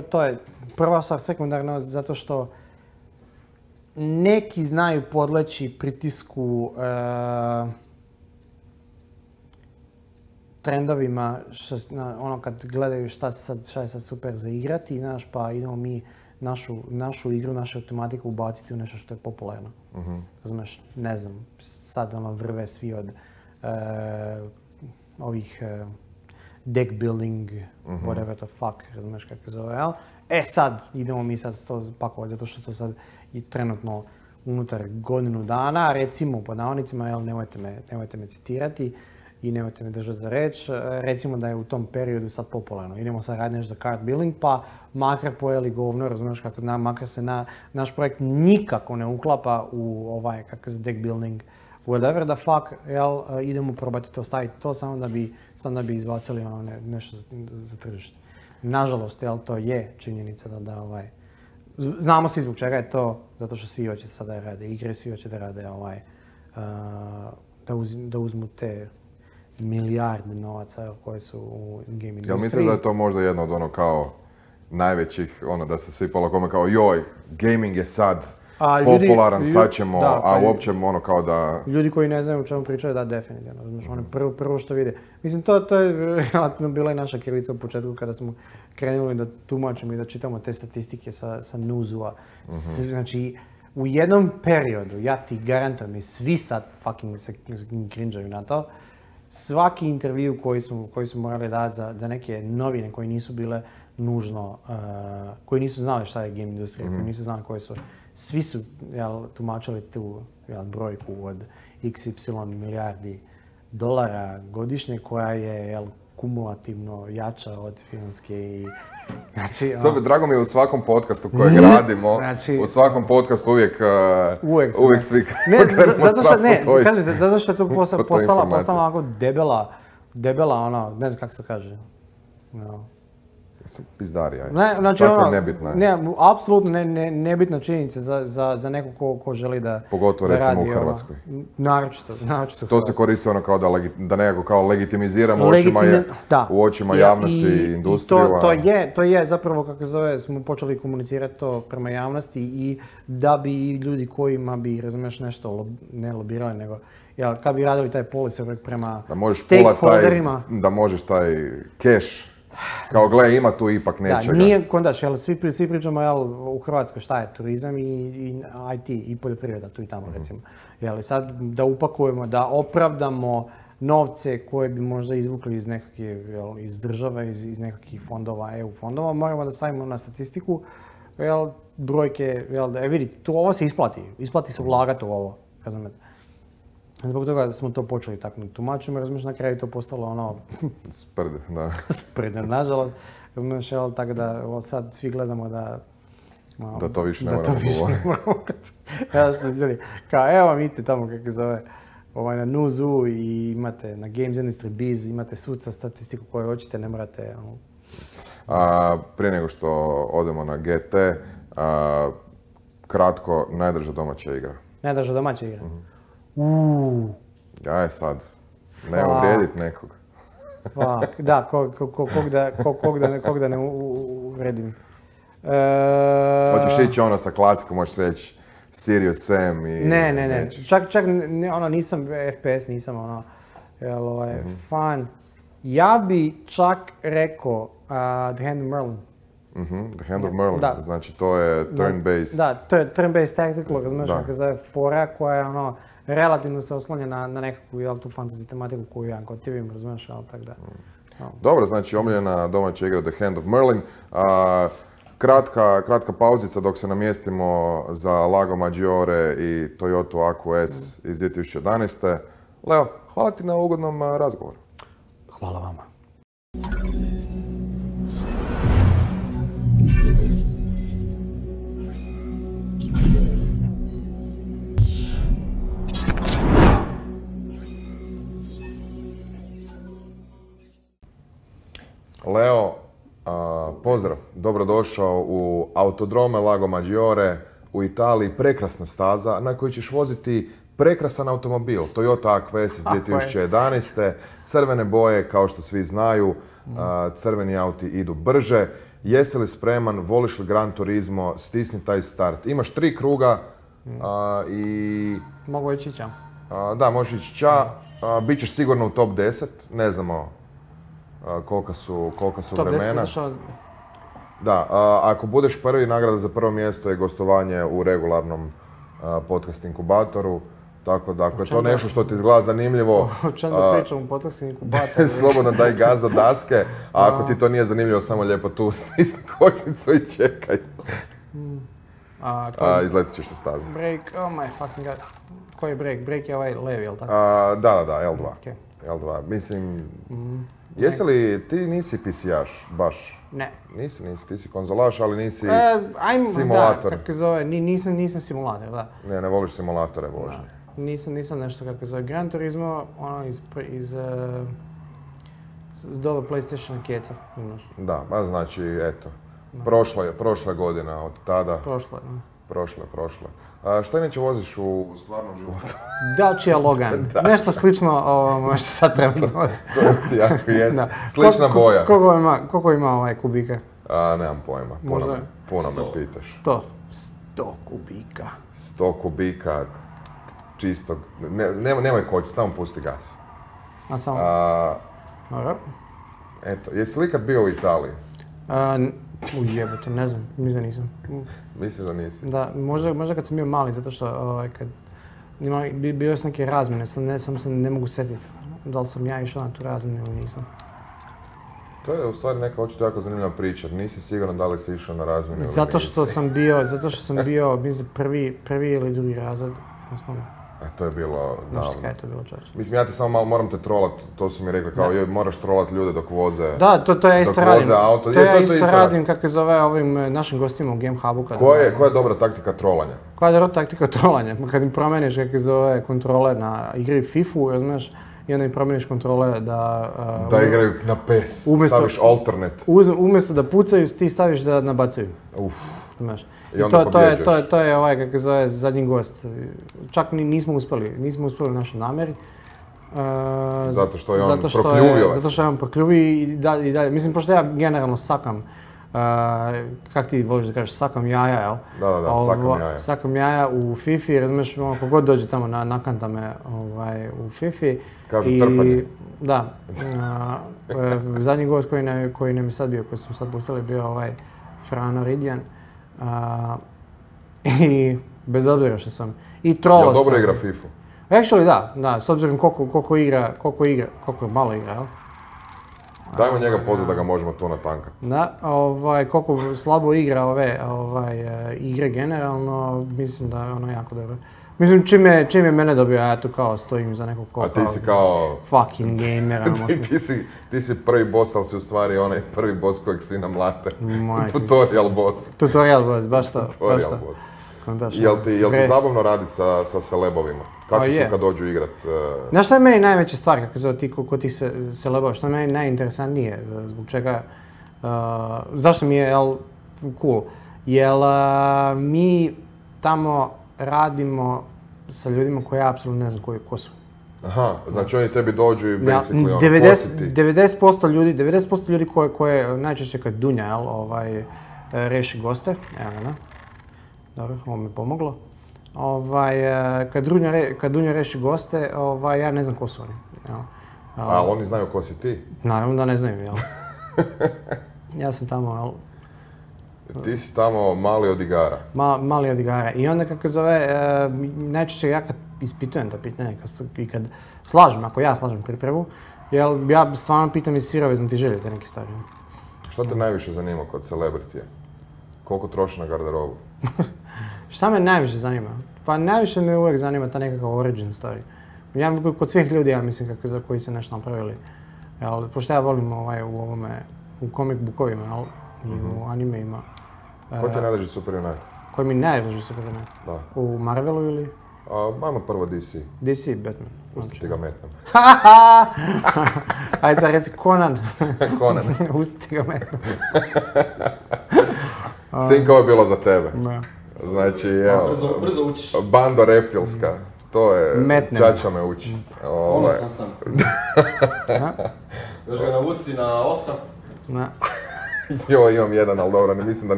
Speaker 2: to je prva stvar, sekundarno, zato što neki znaju podleći pritisku trendovima, kad gledaju šta je sad super za igrati, znaš, pa idemo mi našu igru, našu tematiku ubaciti u nešto što je popularno. Znaš, ne znam, sad vrve svi od ovih deck building, whatever the fuck, razumiješ kako se zove, jel? Sad idemo mi sad to pakovati, zato što to sad i trenutno unutar godinu dana, recimo po navodnicima, jel, nemojte me citirati i nemojte me držati za reč, recimo da je u tom periodu sad popularno. Idemo sad raditi nešto za card building, pa makar pojeli govno, razumiješ kako znam, makar se naš projekt nikako ne uklapa u kako se deck building, whatever the fuck, jel, idemo probati to staviti to samo da bi izbacili nešto za tržište. Nažalost, jel, to je činjenica da znamo svi zbog čega je to, zato što svi hoće sada rade igre, svi hoće da rade da uzmu te milijarde novaca koje su u game industriji.
Speaker 1: Jel misliš da je to možda jedno od kao najvećih, da se svi polakome kao joj, gaming je sad popularan, sad ćemo, a uopće kao da...
Speaker 2: Ljudi koji ne znaju o čemu pričaju, da, definitivno. Znači, prvo što vide. Mislim, to je relativno bila i naša krivica u početku kada smo krenuli da tumačimo i da čitamo te statistike sa newsua. Znači, u jednom periodu, ja ti garantujem, i svi sad fucking se cringeaju na to, svaki intervju koji su morali dati za neke novine koje nisu bile nužno, koji nisu znali šta je game industrija, koji nisu znali koje su, svi su tumačili tu brojku od XY milijardi dolara godišnje koja je kumulativno jača od filmske i... Znači,
Speaker 1: drago mi je u svakom podcastu kojeg radimo, u svakom podcastu uvijek svi
Speaker 2: zato što je to postala onako debela, ne znam kako se kaže.
Speaker 1: Sam pizdarija.
Speaker 2: Znači,
Speaker 1: tako je nebitna je.
Speaker 2: Ne, apsolutno nebitna činjenica za nekog ko želi da
Speaker 1: pogotovo
Speaker 2: da
Speaker 1: recimo
Speaker 2: radi,
Speaker 1: u Hrvatskoj.
Speaker 2: Naročito
Speaker 1: to se koristi ono kao da nekako kao legitimiziramo u očima javnosti i industriju.
Speaker 2: To je zapravo, kako zove, smo počeli komunicirati to prema javnosti i da bi ljudi kojima bi, razumiješ, nešto ne lobirali, nego kad bi radili taj policy prema stakeholderima.
Speaker 1: Da možeš taj cash, kao gle, ima tu ipak nečega.
Speaker 2: Da, nije kondaš, svi pričamo u Hrvatskoj šta je turizam i IT i poljoprivreda tu i tamo recimo. Sad da upakujemo, da opravdamo novce koje bi možda izvukli iz države, iz nekakvih fondova, EU fondova, moramo da stavimo na statistiku brojke, vidi, ovo se isplati se ulagati u ovo, razumijete. Zbog toga smo to počeli tako tumačimo, razumiješ, na kraju to postalo ono...
Speaker 1: Sprde, da.
Speaker 2: Sprde, nažalost. Razumiješ, tako da sad svi gledamo da...
Speaker 1: Da to više ne moramo govoriti.
Speaker 2: Jasno, ljudi, kao evo vidite tamo kako zove, na Nuzu i imate na Games Industry Biz, imate suca statistiku koju hoćete, ne morate...
Speaker 1: Prije nego što odemo na GT, kratko, najdrža domaća igra.
Speaker 2: Najdrža domaća igra?
Speaker 1: Aj sad, ne uvrijedit nekog.
Speaker 2: Da, kog da ne uvredim.
Speaker 1: Hoćeš ići ono sa klasikom, možeš reći Serious Sam i...
Speaker 2: Ne. Čak nisam FPS, nisam fan. Ja bi čak rekao The Hand of Merlin.
Speaker 1: The Hand of Merlin, znači to je turn-based...
Speaker 2: Da, to je turn-based tactical, razumiješ, kako zove fora koja je relativno se oslanja na nekakvu tu fantasy tematiku koju ja gotivim, razumiješ, ali tako da.
Speaker 1: Dobro, znači omiljena domaća igra The Hand of Merlin. Kratka pauzica dok se namjestimo za Lago Maggiore i Toyota AQS iz 2011. Leo, hvala ti na ugodnom razgovoru.
Speaker 2: Hvala vama.
Speaker 1: Leo, pozdrav, dobrodošao u Autodrome Lago Maggiore u Italiji, prekrasna staza na kojoj ćeš voziti prekrasan automobil, Toyota AQS iz 2011. Crvene boje, kao što svi znaju, crveni auti idu brže. Jesi li spreman, voliš li Gran Turismo, stisni taj start. Imaš 3 kruga i...
Speaker 2: Mogu ići ća.
Speaker 1: Da, možeš ići ća, bit ćeš sigurno u top 10, ne znamo kolika su vremena.
Speaker 2: Top 10
Speaker 1: Da, ako budeš prvi, nagrada za prvo mjesto je gostovanje u regularnom podcast inkubatoru. Tako da, ako je to nešto što ti izgleda zanimljivo...
Speaker 2: O čem da pričam u podcast inkubatoru?
Speaker 1: Slobodno daj gaz do daske, a ako ti to nije zanimljivo, samo lijepo tu stisni kočnicu i čekaj. Izletit ćeš sa staze.
Speaker 2: Break, oh my fucking god. Koji je break? Break je ovaj levi, jel tako?
Speaker 1: Da, L2. L2, mislim... Jesi li, ti nisi PC-jaš, baš?
Speaker 2: Ne.
Speaker 1: Nisi, ti si konzolaš, ali nisi simulator.
Speaker 2: Da, kako zove, nisam simulator, da.
Speaker 1: Ne voliš simulatore vožnje.
Speaker 2: Nisam nešto kako zove. Gran Turismo, iz doba PlayStation keca.
Speaker 1: Da, znači, eto. Prošla godina od tada. Prošla. Šta inače voziš u stvarnom životu?
Speaker 2: Dacia Logan. Nešto slično možda sad trebam voziti.
Speaker 1: To ti jako jest. Slična boja.
Speaker 2: Koliko ima kubika?
Speaker 1: Nemam pojma. Puno me pitaš.
Speaker 2: 100 kubika.
Speaker 1: 100 kubika čistog. Nemoj kočiti, samo pusti gas.
Speaker 2: A samo?
Speaker 1: Eto, jesi li ikad bio u Italiji?
Speaker 2: Ujebote, ne znam, mislim da nisam.
Speaker 1: Mislim da nisi?
Speaker 2: Da, možda kad sam bio mali, zato što bio sam neke razmjene, samo se ne mogu setiti. Da li sam ja išao na tu razmjenu ili nisam.
Speaker 1: To je u stvari neka očito jako zanimljiva priča. Nisi siguran da li si išao na razmjenu ili nisi.
Speaker 2: Zato što sam bio, mislim, prvi ili drugi razred, osnovno.
Speaker 1: To je bilo davno.
Speaker 2: Znaš kaj je to bilo, čovječ?
Speaker 1: Mislim, ja ti samo malo moram te trolat, to su mi rekli kao moraš trolat ljude dok voze.
Speaker 2: Da, to ja isto radim. To ja isto radim, kako zove ovim našim gostima u Game Hubu.
Speaker 1: Koja je dobra taktika trolanja?
Speaker 2: Koja je dobra taktika trolanja? Kad im promeniš kako zove kontrole na igri FIFA-u, razumiješ, i onda im promijeniš kontrole da...
Speaker 1: Da igraju na PES, staviš alternate.
Speaker 2: Umjesto da pucaju, ti staviš da nabacaju. Znaš.
Speaker 1: I onda pobjeđaš.
Speaker 2: To je ovaj, kako se zove, zadnji gost. Čak nismo uspjeli u našoj namjeri.
Speaker 1: Zato što je on prokljuvio vas.
Speaker 2: Zato što je on prokljuvio i dalje. Mislim, pošto ja generalno sakam, kak ti voliš da kažeš, sakam jaja, jel?
Speaker 1: Da, sakam jaja.
Speaker 2: Sakam jaja u Fifi, razumiješ, kogod dođe tamo nakanta me u Fifi.
Speaker 1: Kažu trpanje.
Speaker 2: Da. Zadnji gost koji nam je sad bio, koji smo sad pustili, bio ovaj Frano Ridjan. I bez obzira što sam i trolao sam.
Speaker 1: Jel dobro igra FIFA?
Speaker 2: Actually da, s obzirom koliko malo igra, jel?
Speaker 1: Dajmo njega pozvat da ga možemo tu natankati.
Speaker 2: Da, koliko slabo igra ove igre generalno, mislim da je ono jako dobro. Mislim, čim je mene dobio, ja tu kao stojim za nekog
Speaker 1: A ti si kao...
Speaker 2: fucking gamer.
Speaker 1: Ti si prvi boss, ali si u stvari onaj prvi boss kojeg svi namlate. Tutorial boss.
Speaker 2: Tutorial boss, baš to.
Speaker 1: Tutorial boss. Jel ti zabavno raditi sa celebovima? Kako su kad dođu igrat?
Speaker 2: Znaš što je meni najveća stvar, kako zove ti kod tih celebova, što je meni najinteresantnije, zbog čega, zašto mi je cool? Jel mi tamo radimo sa ljudima koji ja apsolutno ne znam ko su.
Speaker 1: Aha, znači oni tebi dođu i basically ono,
Speaker 2: 90% ljudi koje najčešće kad Dunja reši goste, evo ga, dobro, ovo mi je pomoglo. Kad Dunja reši goste, ja ne znam ko su oni.
Speaker 1: Ali oni znaju ko si ti?
Speaker 2: Naravno da ne znaju, jel? Ja sam tamo, jel?
Speaker 1: Ti si tamo mali od igara.
Speaker 2: Mali od igara. I onda kako zove, najčešće ja kad ispitujem ta pitanja i kad slažem, ako ja slažem pripremu, jel ja stvarno pitam iz sirovezno ti želite neke stvari.
Speaker 1: Šta te najviše zanima kod celebritija? Koliko troši na garderobu?
Speaker 2: Šta me najviše zanima? Pa najviše me uvijek zanima ta nekakav origin story. Ja kod svih ljudi, ja mislim, za koji se nešto napravili. Pošto ja volim u comic bookovima, i u animeima.
Speaker 1: Ko ti najdraži superjunak?
Speaker 2: Koji mi najdraži superjunak?
Speaker 1: Da.
Speaker 2: U Marvelu ili?
Speaker 1: Ajmo prvo DC.
Speaker 2: DC, Batman.
Speaker 1: Pusti ti ga metnem.
Speaker 2: Ajde sad reci Conan.
Speaker 1: Conan.
Speaker 2: Pusti ti ga metnem.
Speaker 1: Sinka, ovo je bilo za tebe.
Speaker 2: Da.
Speaker 1: Znači, evo,
Speaker 3: brzo učiš.
Speaker 1: Bando reptilska. To je, Čača me uči.
Speaker 3: Ponosan sam. Još ga navuci na 8.
Speaker 2: Da.
Speaker 1: Jo, imam jedan, ali dobro, mislim da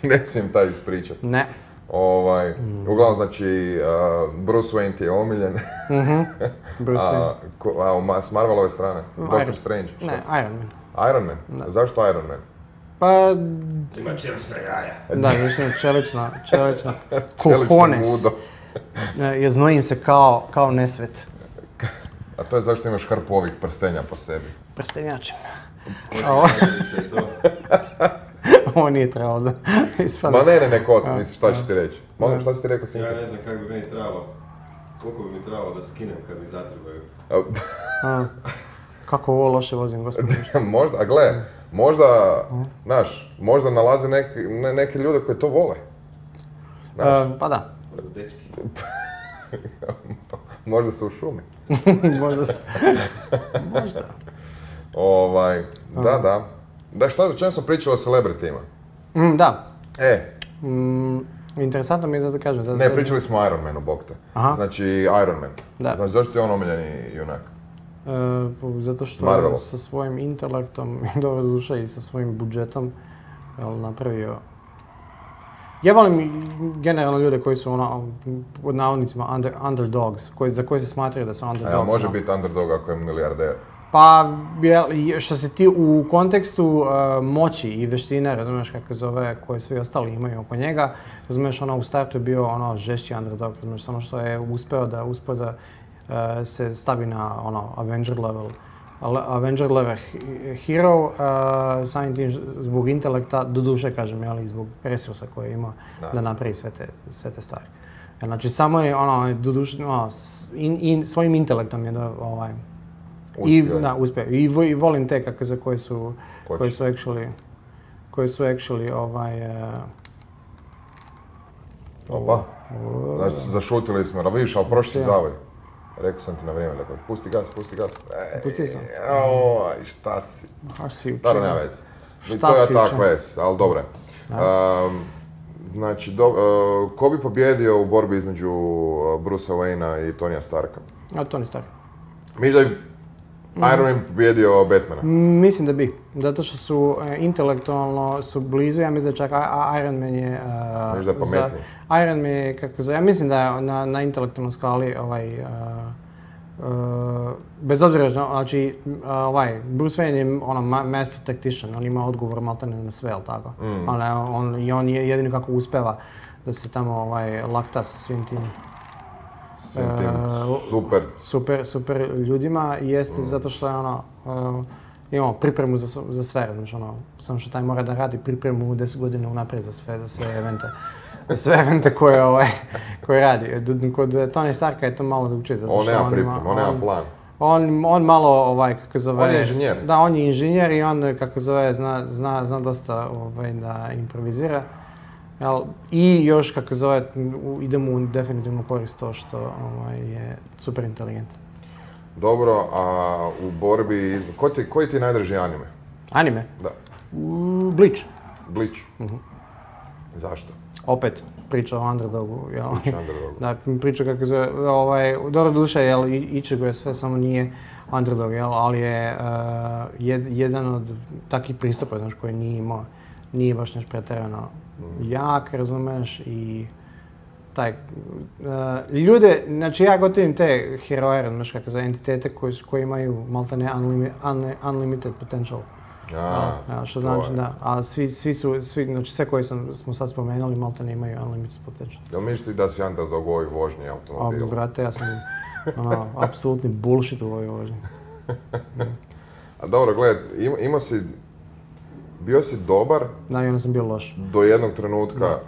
Speaker 1: ne smijem taj ispričat.
Speaker 2: Ne.
Speaker 1: Uglavnom, znači, Bruce Wayne ti je omiljen.
Speaker 2: Bruce Wayne.
Speaker 1: S Marvelove strane? Doctor Strange?
Speaker 2: Ne, Iron Man.
Speaker 1: Iron Man? Da. Zašto Iron Man?
Speaker 2: Pa...
Speaker 3: Ima čelična jaja.
Speaker 2: Da, više čelična. Cojones. Ja znojim se kao nesvet.
Speaker 1: A to je zašto imaš hrpu ovih prstenja po sebi?
Speaker 2: Prstenjačim. Ovo nije trebalo da ispada.
Speaker 1: Ma ne, kost, misliš šta ću ti reći. Molim, šta si ti rekao, Sinka?
Speaker 3: Ja ne znam kako bi meni trebalo, koliko bi mi trebalo da skinem kad mi zatrebaju.
Speaker 2: Kako ovo loše vozim, gospodin.
Speaker 1: Možda, a gle, možda nalaze neke ljude koji to vole.
Speaker 2: Pa da.
Speaker 3: Dečki.
Speaker 1: Možda su u šumi.
Speaker 2: Možda.
Speaker 1: Da. Da, o čem smo pričali o celebritima?
Speaker 2: Da. Interesantno mi je da kažem.
Speaker 1: Ne, pričali smo o Iron Manu, bog te. Znači, Iron Man. Da. Znači, zašto je on omiljeni junak?
Speaker 2: Zato što sa svojim intelektom, dobro duša i sa svojim budžetom napravio... Ja volim generalno ljude koji su pod navodnicima underdogs, za koje se smatraju da su underdogs.
Speaker 1: Može biti underdog ako je milijarder.
Speaker 2: Pa, što se ti u kontekstu moći i veštine, razumiješ kako zove, koje svi ostali imaju oko njega, razumiješ, u startu je bio žešći underdog, razumiješ, samo što je uspeo da se stavi na Avenger level hero, samim tim zbog intelekta, doduše kažem, i zbog resursa koje ima da napravi sve te stvari. Znači, samo je doduše, svojim intelektom je da uspio. I volim te koje su actually
Speaker 1: Opa, znači zašutili smo, vidiš, ali prošli zavoj. Rekao sam ti na vrijeme, dakle, pusti gas.
Speaker 2: Pustio sam.
Speaker 1: Oj, šta si?
Speaker 2: Baš si učinio.
Speaker 1: Dobro, nema veze.
Speaker 2: Šta
Speaker 1: To je
Speaker 2: si
Speaker 1: tako
Speaker 2: učinio?
Speaker 1: ves, ali dobro je. Znači, ko bi pobjedio u borbi između Brucea Wayne-a i Tonija Starka?
Speaker 2: A Tony Stark.
Speaker 1: Misliš da bi Iron Man pobjedio Batmana?
Speaker 2: Mislim da bi, zato što su intelektualno su blizu, ja mislim da čak Iron Man je...
Speaker 1: Misliš da je pametniji?
Speaker 2: Iron Man je, ja mislim da je na intelektualnoj skali bez obzira, znači, Bruce Wayne je master tactician, on ima odgovor maltene na sve, jel tako? I on je jedino kako uspeva da se tamo lakta sa svim tim super ljudima, jeste zato što je imamo pripremu za sve, znači samo što taj mora da radi pripremu 10 godina unaprijed za sve evente. Sve evente koje radi. Kod Tony Starka je to malo drugčije, zato što
Speaker 1: on nema pripremu, on nema plan.
Speaker 2: On malo, kako zove...
Speaker 1: On je inženjer.
Speaker 2: Da, on je inženjer i on, kako zove, zna dosta da improvizira. I još, kako zove, ide mu definitivno korist to što je super inteligentan.
Speaker 1: Dobro, a u borbi... Koji ti je najdraži anime?
Speaker 2: Anime?
Speaker 1: Da.
Speaker 2: Bleach.
Speaker 1: Bleach? Zašto?
Speaker 2: Opet, priča o underdogu, jel?
Speaker 1: Priča o underdogu.
Speaker 2: Da, priča kako se, dobro duše, jel, Ichigo je sve, samo nije underdog, jel, ali je jedan od takvih pristupa, znaš, koji nije baš nešto pretjerano jak, razumeš, i ljude, znači ja gotivim te heroje, razumeš, kako za entitete koji imaju maltene unlimited potential. Što znači da, a svi, znači sve koje smo sad spomenuli, maltene imaju unlimited potential.
Speaker 1: Jel misliš da si underdog u ovoj vožnji automobila?
Speaker 2: Brate, ja sam apsolutni bullshit u ovoj vožnji.
Speaker 1: A dobro, gledaj, bio si dobar.
Speaker 2: Da, i onda sam bio loš.
Speaker 1: Do jednog trenutka.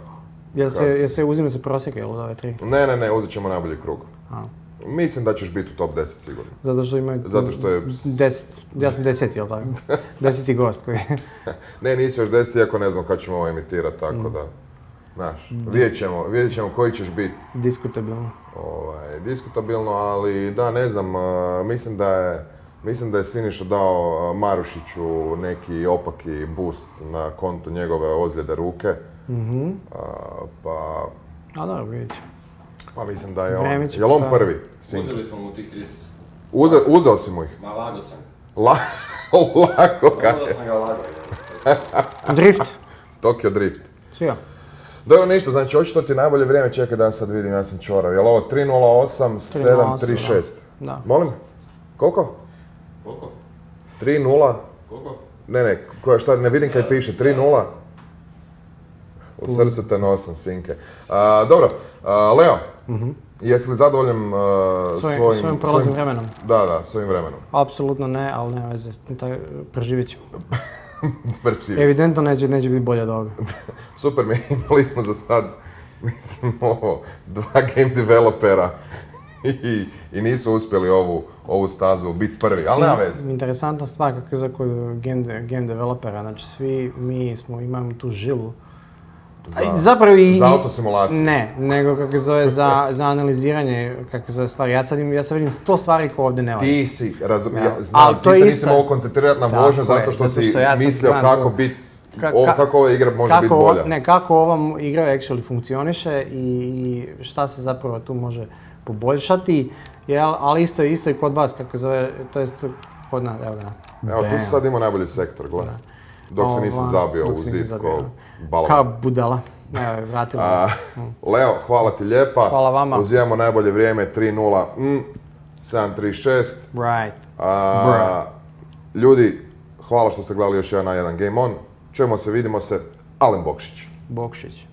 Speaker 2: Uzime se prosjeka, jel, od ove
Speaker 1: 3? Ne, uzet ćemo najbolji krug. Mislim da ćeš biti u top 10 sigurno.
Speaker 2: Zato što je... 10, ja sam 10, jel tako? 10. gost koji...
Speaker 1: Ne, nisi još 10, iako ne znam kad ćemo ovo emitirati, tako da... Znaš, vidjet ćemo koji ćeš biti. Diskutabilno, ali da, ne znam, mislim da je Siniša dao Marušiću neki opaki boost na konto njegove ozljede ruke.
Speaker 2: A dobro, vidjet ćemo.
Speaker 1: Pa mislim da je on. Jel on prvi?
Speaker 3: Uzeli smo mu tih 30...
Speaker 1: Uzeo si mu ih?
Speaker 3: Ma lago sam.
Speaker 1: Lako kaj?
Speaker 3: Uzeo sam ga lago.
Speaker 2: Drift.
Speaker 1: Tokyo Drift.
Speaker 2: Svijo.
Speaker 1: Dobro, ništa, znači očito ti najbolje vrijeme, čekaj da sad vidim, ja sam čorav. Jel ovo 3:08, 7:36?
Speaker 2: Da.
Speaker 1: Molim? Koliko? 3:0?
Speaker 3: Koliko?
Speaker 1: Ne, šta, ne vidim kaj piše, 3:0? U srcu te nosim, sinke. Dobro, Leo, jesi li zadovoljan
Speaker 2: svojim prolaznim vremenom?
Speaker 1: Da, svojim vremenom.
Speaker 2: Apsolutno ne, ali nema veze, preživjet ćemo. Evidentno neće biti bolje od ovoga.
Speaker 1: Super, imali smo za sad, mislim, 2 game developera i nisu uspjeli ovu stazu biti prvi, ali nema veze.
Speaker 2: Interesantna stvar kako je za kod game developera, znači svi mi imamo tu žilu.
Speaker 1: Za autosimulaciju?
Speaker 2: Ne, nego kako zove za analiziranje kako zove stvari. Ja sad vidim 100 stvari koje ovdje ne valja.
Speaker 1: Ti si, znam, ti se nisi mogu koncentrirati na vožnju zato što si mislio kako ova igra može biti bolja.
Speaker 2: Ne, kako ova igra actually funkcioniše i šta se zapravo tu može poboljšati, ali isto i kod vas kako zove, to jest kod nas, evo ga.
Speaker 1: Evo, tu si sad imao najbolji sektor, gledaj. Dok se nisi zabio u zid ko balon.
Speaker 2: Kao budala. Evo, vratilo.
Speaker 1: Leo, hvala ti lijepa.
Speaker 2: Hvala vama.
Speaker 1: Uzimamo najbolje vrijeme 3:0, 7:36.
Speaker 2: Right.
Speaker 1: Ljudi, hvala što ste gledali još jedan Game On. Čujemo se, vidimo se. Alen Bokšić.